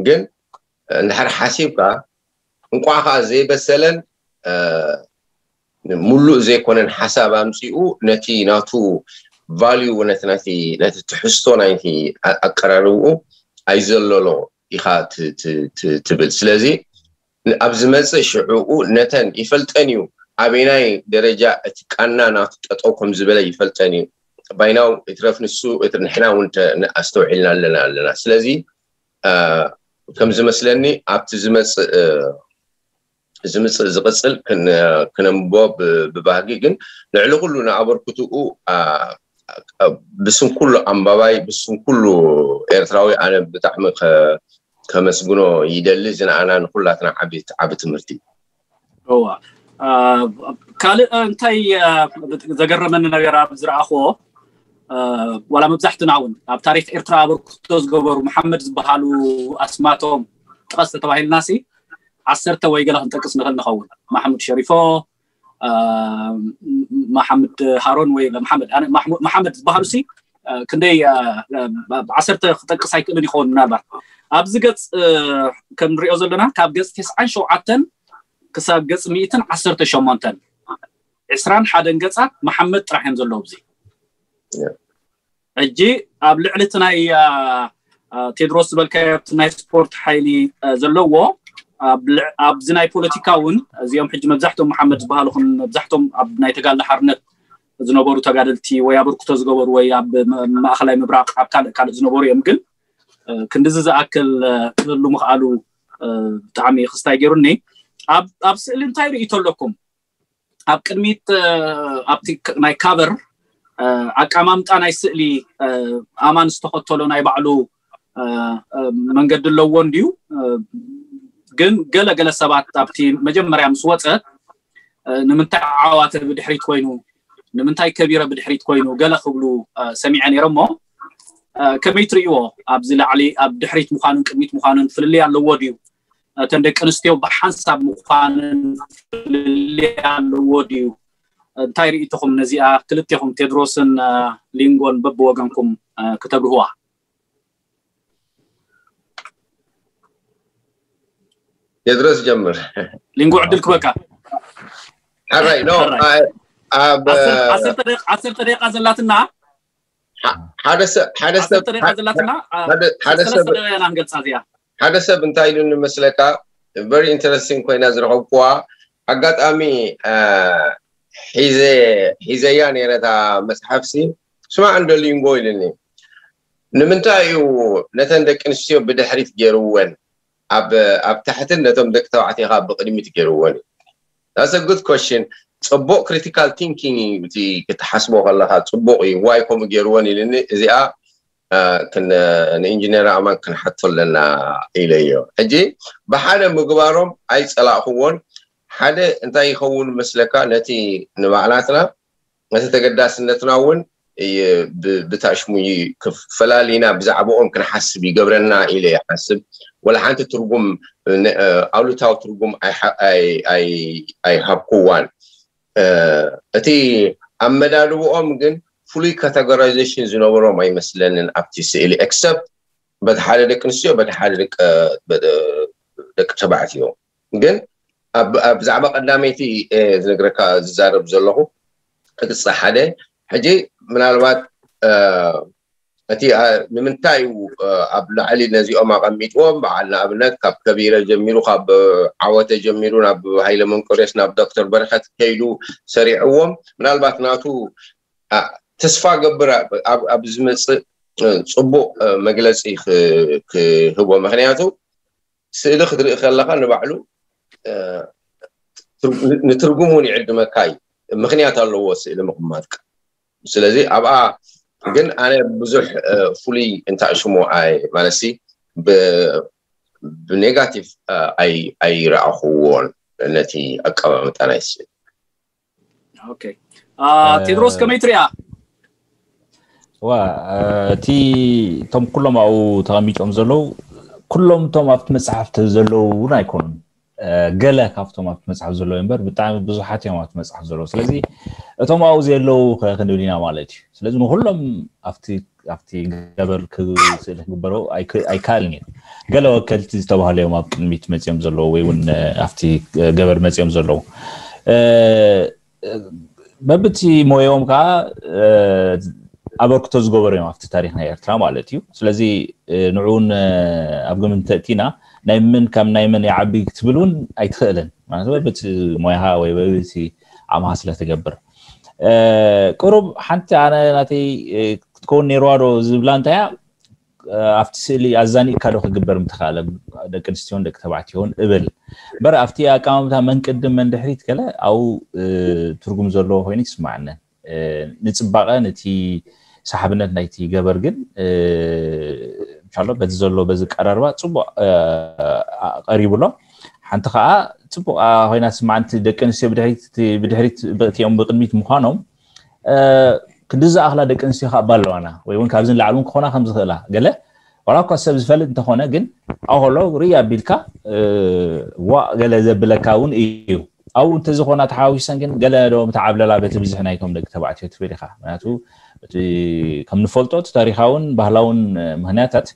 ግን እንድሕር ሓሲብካ እንቋዕ ከዓ ዘይበሰለን ሙሉእ ዘይኮነን ሓሳብ ኣምፂኡ ነቲ ናቱ ቫልዩ ነቲ ናቲ ነቲ ትሕዝቶ ናይቲ ኣቀራርብኡ ኣይዘለሎ ኢኻ ትብል ስለዚ ኣብ ዝመፅእ ሽዕኡ ነተን ይፈልጠን እዩ ኣበናይ ደረጃ እቲ ቃና ናቱ ጠጠው ከም ዝበለ ይፈልጠን እዩ ባይናው እትረፍ ንሱ ንሕና እውን ኣስተውዒልና ኣለና ኣለና ስለዚ ከም ዝመስለኒ ኣብቲ ዝመፅእ ዝምፅእ ዝቕፅል ክነንብቦ ብባህጊ ግን ልዕሊ ኩሉ ንኣበርክትኡ ብስም ኩሉ ኣንባባይ ብስም ኩሉ ኤርትራዊ ኣነ ብጣዕሚ ከመስግኖ ይደሊ እዚ ንኣና ንኩላትና ዓቢ ዓቢ ትምህርቲ እዩ እዋ ካልእ እንታይ ዘገረመኒ ነገር ኣብ ዝረኣኽዎ ዋላ መብዛሕትና እውን ኣብ ታሪክ ኤርትራ ኣበርክቶ ዝገበሩ መሓመድ ዝበሃሉ ኣስማቶም ጥቀስ ተተባሂልና ሲ ዓሰርተ ወይ ገለ ክንጠቅስ ንኽእል ንኸውን ማሕሙድ ሸሪፎ ማሓምድ ሃሮን ወይ ማሓመድ ዝበሃሉ ሲ ክንደይ ዓሰርተ ክጠቅስ ኣይክእልን ይኸውን ምናልባት ኣብዚ ገፅ ከም ንሪኦ ዘለና ካብ ገፅ ተስዓን ሸውዓተን ክሳብ ገፅ ሚእትን ዓሰርተ ሸሞንተን ዕስራን ሓደን ገፃት መሓመድ ጥራሕ እዮም ዘለዉ እዚ ሕጂ ኣብ ልዕሊ እቲ ናይ ቴድሮስ ዝበልካዮ ናይ ስፖርት ሓይሊ ዘለዎ ኣብዚ ናይ ፖለቲካ እውን እዚኦም ሕጂ መብዛሕቶም መሓመድ ዝበሃሉ መብዛሕቶም ኣብ ናይ ተጋለ ሓርነት ዝነበሩ ተጋደልቲ ወይ ኣበርክቶ ዝገበሩ ወይ ኣብ ማእኸላይ ምብራቕ ኣብ ካልእ ካልእ ዝነበሩ እዮም ግን ክንድዚ ዝኣክል ክህሉ ምኽኣሉ ብጣዕሚ ክስታይ ገይሩኒ ኣብ ስእሊ እንታይ ርእይቶ ኣለኩም ኣብ ቅድሚት ኣብቲ ናይ ካቨር ኣቀማምጣ ናይ ስእሊ ኣማን ዝተኸተሎ ናይ ባዕሉ መንገዲ ኣለዎ እንድዩ ግን ገለ ገለ ሰባት ኣብቲ መጀመርያ ምስ ወፀ ንምንታይ ዓዋተ ብድሕሪት ኮይኑ ንምንታይ ከቢረ ብድሕሪት ኮይኑ ገለ ክብሉ ሰሚዐ ነይረ እሞ ከመይ ትርእይዎ ኣብዚ ላዕሊ ኣብ ድሕሪት ምዃኑን ቅድሚት ምዃኑን ፍልልይ ኣለዎ ድዩ እተን ደቂ ኣንስትዮ ብሓንሳብ ምዃንን ፍልልይ ኣለዎ ድዩ? እንታይ ርእይቶኹም ነዚኣ? ክልቴኹም ቴድሮስን ሊንጎን በብወገንኩም ክተብርህዋ። ቴድሮስ ጀምር። ሊንጎ ዕድል ክበካ። ሕራይ ኖ ኣብ ዓሰርተ ደቂቃ ዘላትና ሓደ ሰብ ሓደ ሰብ ዓሰርተ ደቂቃ ዘላትና ሓደ ሰብ ሰለስተ ደቂቃ ኢና ንገልፃ እዚኣ። ሓደ ሰብ እንታይ ኢሉ ንመስለካ? Very interesting ኮይና ዝረኸብኩዋ ኣጋጣሚ ሒዘ ሒዘያ ነይረ እታ መፅሓፍሲ። ስማዕ እንዶ ሊንጎ ኢሉኒ፣ ንምንታይ እዩ ነተን ደቂ ኣንስትዮ ብድሕሪት ገይርወን ኣብ ኣብ ታሕትን ነቶም ደቂ ተባዕትዮ ከዓ ብቅድሚት ገይርወን? That's a good question። ፅቡቅ critical thinking እዩ እቲ ክትሓስቦ ከለካ ፅቡቅ እዩ። ዋይ ከምኡ ገይርወን ኢልኒ። እዚኣ ንኢንጂነር ኣማን ክንሓቶ ኣለና ኢለዮ። ሕጂ ብሓደ ምግባሮም ኣይፀላእክዎን። ሓደ እንታይ ይኸውን መስለካ? ነቲ ንባዕላትና ነቲ ተገዳስነትና እውን ብታሽሙ ፈላሊና ብዛዕባኦም ክንሓስብ ይገብረና ኢለ ይሓስብ። ወላ ሓንቲ ትርጉም ኣሉታዊ ትርጉም ኣይሃብኩዋን። እቲ ኣመዳድብኦም ግን ፍሉይ categorization ዝነበሮም ኣይመስለንን ኣብቲ ስእሊ፣ except በቲ ሓደ ደቂ ኣንስትዮ በቲ ሓደ ደቂ ተባዕትዮ። ግን ብዛዕባ ቀዳመይቲ ዝነግረካ ዝዛረብ ዘለኹ ቅጽ ሓደ ሕጂ ምናልባት እቲ ንምንታይ እዩ ኣብ ላዕሊ ነዚኦም ኣቐሚጥዎም? በዓል ንኣብነት ካብ ከቢረ ጀሚሩ፣ ካብ ዓወተ ጀሚሩ ናብ ሃይለ መንቆርዮስ ናብ ዶክተር በረኸት ከይዱ ሰሪዕዎም። ምናልባት ናቱ ተስፋ ገብር ኣብ ዝመፅእ ፅቡቅ መግለፂ ክህቦ። ምክንያቱ ስእሊ ክትርኢ ከለካ ንባዕሉ ንትርጉም እውን ይዕድመካ እዩ። ምክንያት ኣለዎ ስእሊ ምቕማጥካ። ስለዚ ኣብኣ ግን ኣነ ብዙሕ ፍሉይ እንታሽሙ ኣይ ማለትሲ ብኔጋቲቭ ኣይረኣኽዎን ነቲ ኣቀማምጣ ናይ ስእሊ። ኦኬ፣ ቴድሮስ ከመይ ትሪኣ? ዋ እቲ እቶም ኩሎም ኣብኡ ተቐሚጦም ዘለዉ ኩሎም እቶም ኣብቲ መፅሓፍ ዘለዉ እውን ኣይኮኑን። ገለ ካብቶም ኣብቲ መፅሓፍ ዘለዉ እምበር ብጣዕሚ ብዙሓት እዮም ኣብቲ መፅሓፍ ዘለዉ። ስለዚ እቶም ኣብኡ ዘየለዉ ክንብል ኢና ማለት እዩ። ስለዚ ንኩሎም ኣብቲ ኣብቲ ገበር ስእሊ ክግበሮ ኣይከኣልን እዩ። ገለ ወከልቲ ዝተባህሉ እዮም ኣብ ቅድሚት መፅኦም ዘለዉ ወይ እውን ኣብቲ ገበር መፅኦም ዘለዉ። በብቲ ሞያኦም ከዓ ኣበርክቶ ዝገበሩ እዮም ኣብቲ ታሪክ ናይ ኤርትራ ማለት እዩ። ስለዚ ንዕኡን ኣብ ግምት እንተእቲና ናይ ምን ካብ ናይ ምን ይዓቢ ክትብል እውን ኣይትኽእልን ማለት በብቲ ሞያኻ ወይ በብቲ ዓማኻ ስለትገብር። ቁሩብ ሓንቲ ኣነ ናተይ ክትከውን ነይርዋ ዶ ዝብላ እንታያ ኣብቲ ስእሊ ኣዛኒእካ ዶ ክግበር ምተኻእለ ደቂ ኣንስትዮን ደቂ ተባዕትዮን እብል እምበር ኣብቲ ኣቀማምታ መን ቅድም መን ድሕሪት ገለ ኣብኡ ትርጉም ዘለዎ ኮይኑ ይስማዓኒ። ንፅባቐ ነቲ ሰሓብነት ናይቲ ገበር ግን እንሻሎ በዚ ዘሎ በዚ ቀራርባ ፅቡቅ ቀሪቡሎ። ሓንቲ ከዓ ፅቡቅ ኮይና ትስማዓኒ። ደቂ ኣንስትዮ ብድሕሪት ብድሕሪት እቲኦም ብቅድሚት ምኳኖም ክንዲ ዝኣኽላ ደቂ ኣንስትዮ ከዓ ኣለዋና ወይ እውን ካብዚ ንላዕሊ እውን ክኾና ከም ዝኽእላ ገለ ዋላ እኳ ሰብ ዝፈልጥ እንተኾነ ግን ኣብኡ ከሎ ርኢ ኣቢልካ ዋእ ገለ ዘብለካ እውን እዩ። ኣብኡ እንተዝኾና ተሓዋዊሰን ግን ገለ ዶ ምተዓብለላ በቲ ብዝሒ ናይቶም ደቂ ተባዕትዮ ትብል ኢኻ። ምክንያቱ እቲ ከም ንፈልጦ እቲ ታሪኻውን ባህላውን ምክንያታት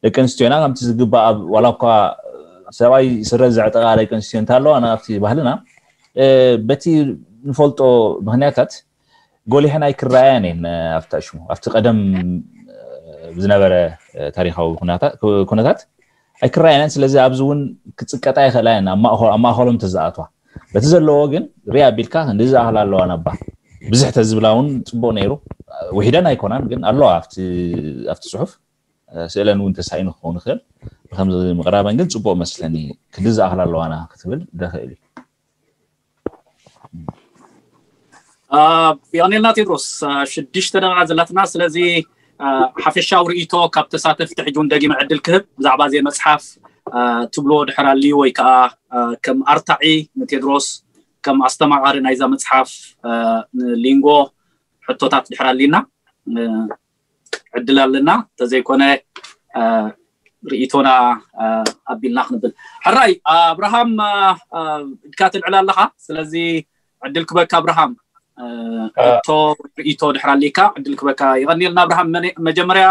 ደቂ ኣንስትዮና ከምቲ ዝግባእ ኣብ ዋላ እኳ ሰብኣይ ስረ ዘዕጠቓ ደቂ ኣንስትዮ እንተለዋ ናብቲ ባህልና በቲ ንፈልጦ ምክንያታት ጎሊሐን ኣይክረኣያን እየን። ኣብቲ ሽሙ ኣብቲ ቀደም ዝነበረ ታሪካዊ ኩነታት ኣይክረኣያን እየን። ስለዚ ኣብዚ እውን ክፅቀጣ ይኽእላ እየን ኣብ ማእኸሎም ተዝኣትዋ። በቲ ዘለዎ ግን ሪኣ ኣቢልካ ክንዲ ዝኣኽል ኣለዋ ናባ ብዝሕ ተዝብላ እውን ፅቡቅ ነይሩ። ውሒደን ኣይኮናን ግን ኣለዋ ኣብቲ ፅሑፍ ስእለን እውን ተሳኢኑ ክኸውን ይኽእል። ብከምዚ ምቕራበን ግን ፅቡቅ መስለኒ። ክንዲ ዝኣኽል ኣለዋና ክትብል ደኽእል እዩ። የቐኔልና ቴድሮስ፣ ሽዱሽተ ደቂቃ ዘላትና። ስለዚ ሓፈሻዊ ርእይቶ ካብ ተሳተፍቲ ሕጂ እውን ደጊመ ዕድል ክህብ ብዛዕባ እዚ መፅሓፍ ትብሎ ድሕር ኣልዩ ወይ ከዓ ከም ኣርታዒ ንቴድሮስ ከም ኣስተማቓሪ ናይዛ መፅሓፍ ንሊንጎ ሕቶታት ድሕር ኣልዩና ዕድል ኣለና። ተዘይኮነ ርእይቶና ኣቢልና ክንብል። ሕራይ ኣብርሃም፣ ኢድካ ትልዕል ኣለኻ። ስለዚ ዕድል ክበካ ኣብርሃም፣ ሕቶ፣ ርእይቶ ድሕር ኣሊካ ዕድል ክበካ። ይቐኒልና ኣብርሃም። መጀመርያ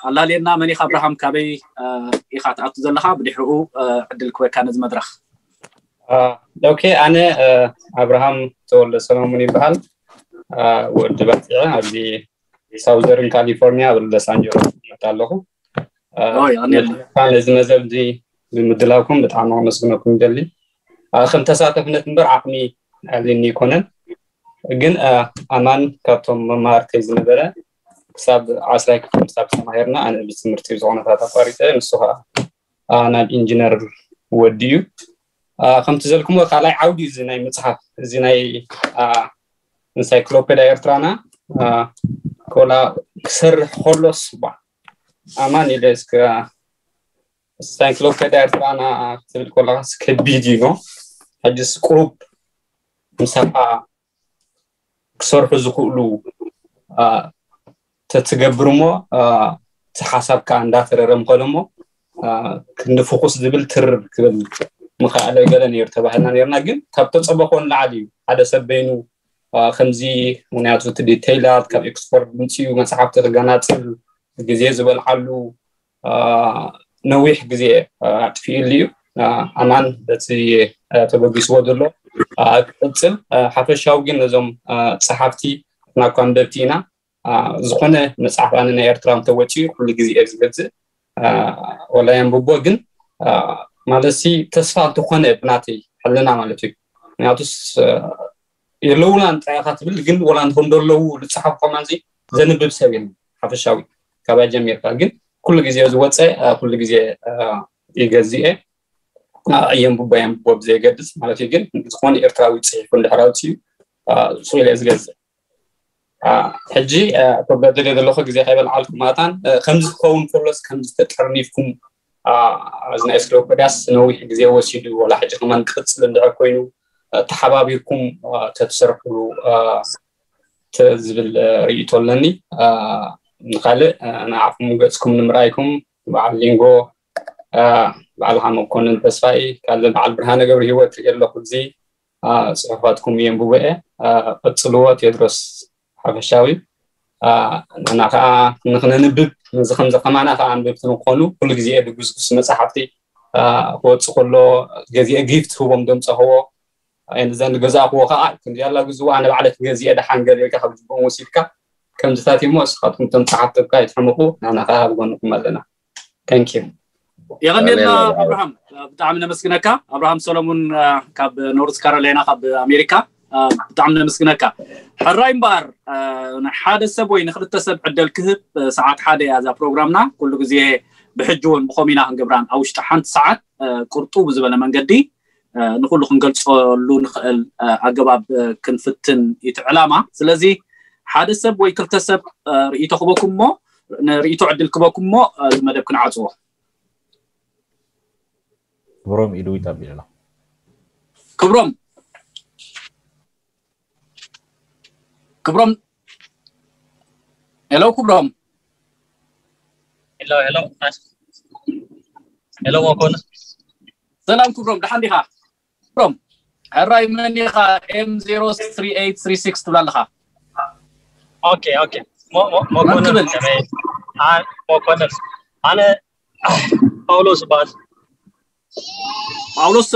ኣላልየና፣ መን ኢኻ ኣብርሃም? ካበይ ኢኻ ትኣቱ ዘለኻ? ብድሕሪኡ ዕድል ክበካ ነዚ መድረኽ። ኦኬ፣ ኣነ ኣብርሃም ተወልደ ሰሎሙን ይበሃል። ወዲ ባፂዐ ኣብዚ ሳውዘርን ካሊፎርኒያ ኣብ ሎስ ኣንጀለስ ይመጣ ኣለኹ። ነዚ መዘብ እዚ ብምድላውኩም ብጣዕሚ ኣመስግነኩም ይደሊ። ከም ተሳተፍነት እምበር ዓቕሚ ኣልኒ ይኮነን፣ ግን ኣማን ካብቶም መማርተይ ዝነበረ ክሳብ ዓስራይ ክፍሊ ክሳብ ተማሂርና ኣነ ብትምህርቲ ዝኾነታት ኣቋሪፀ፣ ንሱ ከዓ ናብ ኢንጂነር ወዲ እዩ። ከምቲ ዘልኩሞ ካልኣይ ዓውዲ እዚ ናይ መፅሓፍ እዚ ናይ ኢንሳይክሎፔድያ ኤርትራና ኮላ ክሰርሕ ከሎስ ባ ኣማን ኢለ እስከ ኢንሳይክሎፔድያ ኤርትራና ክትብል ከለካ ከቢድ እዩ። ሕጅስ ቁሩብ ምሳኻ ክሰርሑ ዝኽእሉ ተትገብር እሞ እቲ ሓሳብ ከዓ እንዳተረረ ምኸደ እሞ ክንዲ ፍኹስ ዝብል ትርር ክብል ምኸኣለ ገለ ነይሩ ተባሂልና ነርና። ግን ካብ ተፀበኾ ንላዕሊ እዩ ሓደ ሰብ በይኑ ከምዚ ምክንያቱ እቲ ዲተይላት ካብ ኤክስፖርት ምፅኡ መፅሓፍቲ ክገናፅል ግዜ ዝበልዓሉ ነዊሕ ግዜ ኣጥፊኡሉ እዩ። ኣማን በቲ ተበጊስዎ ዘሎ ክቅፅል ሓፈሻዊ ግን ነዞም ፀሓፍቲ ናኳ ኣንበብቲ ኢና። ዝኾነ መፅሓፍ ኣነ ናይ ኤርትራ እንተወፂኡ ኩሉ ግዜ እየ ዝገዝእ። ወላ የንብቦ ግን ማለት ሲ ተስፋ እንተኾነ ብናተይ ሕልና ማለት እዩ። ምክንያቱስ የለውና እንታይ ኢኻ ትብል ግን ወላ እንተኾን ደለዉ ዝፀሓፍ ኮማንዚ ዘንብብ ሰብ የለን። ሓፈሻዊ ካባይ ጀሚርካ ግን ኩሉ ግዜ ዝወፀ ኩሉ ግዜ ይገዝእ እየ። የንብቦ የንብቦ ብዘየገድስ ማለት እዩ። ግን ዝኾነ ኤርትራዊ ፅሒፉ እንድሕር ኣውፅኡ ስኢለ ዝገዝእ። ሕጂ ክብሎ ደልየ ዘለኹ ግዜ ከይበልዓልኩም ማታን ከምዚ ክኸውን ከሎስ ከምዚ ተጠርኒፍኩም እዚ ናይ ስሎኮዳስ ነዊሕ ግዜ ወሲዱ ወላ ሕጂ ከማን ክቅፅል እንድሕር ኮይኑ ተሓባቢርኩም ተትሰርሕሉ ዝብል ርእይቶ ኣለኒ። ንካልእ ንዓኹም ገፅኩም ንምርኣይኩም በዓል ሊንጎ በዓልኻ መኮንን ተስፋይ ካልእ በዓል ብርሃነ ገብረ ሂወት ርኢ ኣለኹ። እዚ ፅሑፋትኩም የንብቦ እየ። ቀፅልዎ ቴድሮስ ሓፈሻዊ ንሕና ከዓ ንክነንብብ ነዚ ከምዚ ከማና ከዓ ኣንብብቲ ንክኾኑ ኩሉ ግዜ ድጉስጉስ መፅሓፍቲ ክወፅእ ከሎ ገዚአ ጊፍት ህቦም ደምፀኽዎ ዘን ገዛእክዎ ከዓ ክንዲ ያላ ግዝዋ ኣነ ባዕለ ክገዚአ ደሓን ገለ ኢልካ ካብ ጅቦም ወሲድካ ከምዚታት እሞ እስኻትኩም እቶም ፀሓፍቲ እኳ ይትሕምቁ ንሕና ከዓ ኣብ ጎንኩም ኣለና። Thank you። የቐንየልና ኣብርሃም፣ ብጣዕሚ ነመስግነካ። ኣብርሃም ሰሎሙን ካብ ኖርዝ ካሮላይና ካብ ኣሜሪካ ብጣዕሚ ነመስግነካ። ሕራይ እምበኣር ንሓደ ሰብ ወይ ንክልተ ሰብ ዕደል ክህብ ሰዓት ሓደ እያ እዛ ፕሮግራምና። ኩሉ ግዜ ብሕጂ እውን ብኸም ኢና ክንገብራን ኣብ ውሽጢ ሓንቲ ሰዓት ቁርጡ ብዝበለ መንገዲ ንኩሉ ክንገልፀሉ ንኽእል ኣገባብ ክንፍትን እዩ እቲ ዕላማ። ስለዚ ሓደ ሰብ ወይ ክልተ ሰብ ርእይቶ ክበኩም እሞ ንርእይቶ ዕድል ክበኩም እሞ እዚ መደብ ክንዓፅዎ። ክብሮም ኢሉ ይታቢልና። ክብሮም ክብሮም ሄሎ ክብሮም ሄሎ ሄሎ ሄሎ መኮንን ሰላም ክብሮም ደሓን ዲኻ? ክብሮም ሕራይ መን ኢኻ? M zero three eight three six ትብል ኣለኻ። ኦኬ ኦኬ መኮንን መኮንን ኣነ ጳውሎስ ይበሃል። ጳውሎስ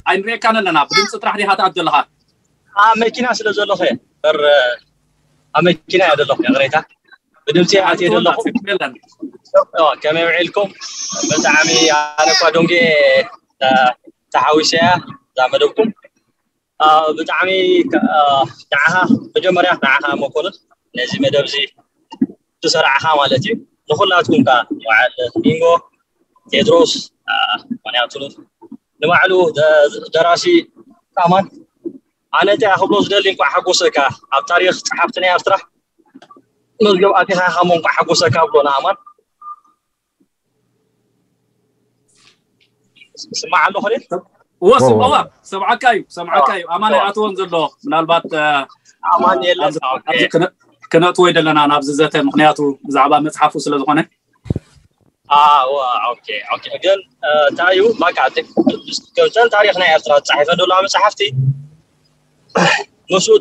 ኣይንሪኤካን ኣለና። ብድምፂ ጥራሕ ዲኻ ትኣቱ ዘለኻ? ኣብ መኪና ስለ ዘለኹ እየ። በር ኣብ መኪና እየ ዘለኹ። ይቕሬታ ብድምፂ ኣትየ ዘለኹ። ከመይ ውዒልኩም? ብጣዕሚ ኣነ እኳ ዶንጌ ተሓዊሰ እያ እዛ መደብኩም። ብጣዕሚ ንዓኻ መጀመርያ ንዓኻ መኮንን ነዚ መደብ እዚ ትሰርዓኻ ማለት እዩ። ንኹላትኩም ከ በዓል ሊንጎ ቴድሮስ ምክንያቱ ንባዕሉ ደራሲ ኣማን ኣነ እንታይ ክብሎ ዝደሊ እንኳዕ ሓጎሰካ ኣብ ታሪክ ፀሓፍቲ ናይ ኤርትራ መዝገብ ኣቲኻ ኢኻ እሞ እንኳዕ ሓጎሰካ ብሎ ንኣማን ስማዕ ኣለኹ እወ ስምዕዋ ሰምዓካ እዩ ሰምዓካ እዩ ኣማን ኣይኣተወን ዘሎ ምናልባት ኣማን የለን ክነእትዎ ይደለና ናብዚ ዘተ ምክንያቱ ብዛዕባ መፅሓፉ ስለ ዝኾነ ኣዋ ኦኬ ኦኬ ግን እንታይ እዩ በቃ ገብተን ታሪክ ናይ ኤርትራ ዝፀሓፈ ደለዋ መፅሓፍቲ ምስኡ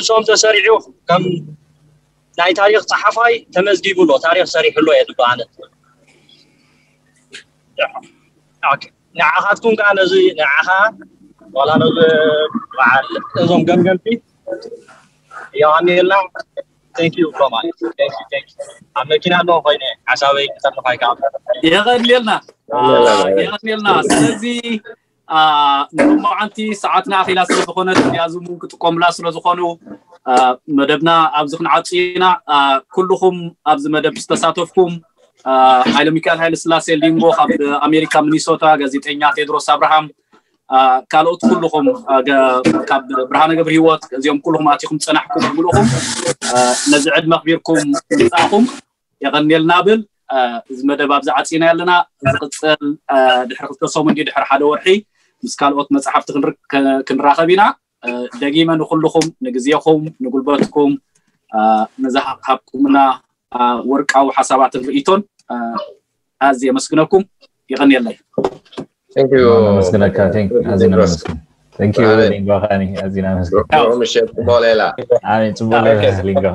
እሶም ተሰሪዑ ከም ናይ ታሪክ ፀሓፋይ ተመዝጊቡ ኣሎ ታሪክ ሰሪሑ ኣሎ እየ ዝብል ኣነ ንዓኻትኩም ከዓ ነዚ ንዓኻ ዋላ ነዚ በዓል እዞም ገምገምቲ የቀንየልና thank you so much thank you thank you ኣብ መኪና ኣለኹ ኮይነ ሓሳበይ ክተርፋይ ከዓ የቐንየልና የቐንየልና ስለዚ ንሎማዓንቲ ሰዓትና ኣኺላ ስለዝኾነት እዚኣ ዙም እውን ክጥቀሙላ ስለዝኾኑ መደብና ኣብዚ ክንዓጹ ኢና ኩልኹም ኣብዚ መደብ ዝተሳተፍኩም ሓይለ ሚካኤል ሓይለ ስላሴ ሊንጎ ካብ ኣሜሪካ ሚኒሶታ ጋዜጠኛ ቴድሮስ ኣብርሃም ካልኦት ኩልኹም ካብ ብርሃነ ገብረ ህይወት እዚኦም ኩልኹም ኣቲኹም ፀናሕኩም ብምልኹም ነዚ ዕድመ ኣኽቢርኩም ምምፃእኹም የቐንየልና ብል እዚ መደብ ኣብዚ ዓፂና ኣለና ዝቕፅል ድሕሪ ክልተ ሰሙን ድዩ ድሕሪ ሓደ ወርሒ ምስ ካልኦት መፅሓፍቲ ክንራኸብ ኢና ደጊመ ንኩልኹም ንግዜኹም ንጉልበትኩም ንዝሃብኩምና ወርቃዊ ሓሳባትን ርእይቶን ኣዝየ የመስግነኩም የቐንየለይ ነመስግነካ ኣዝና ነመስግን Thank you ሊንጎ ከኒ ኣዝና ነመስግን ምሸት ጽቡቅ ሌላ ኣሜን ጽቡቅ ሌላ ሊንጎ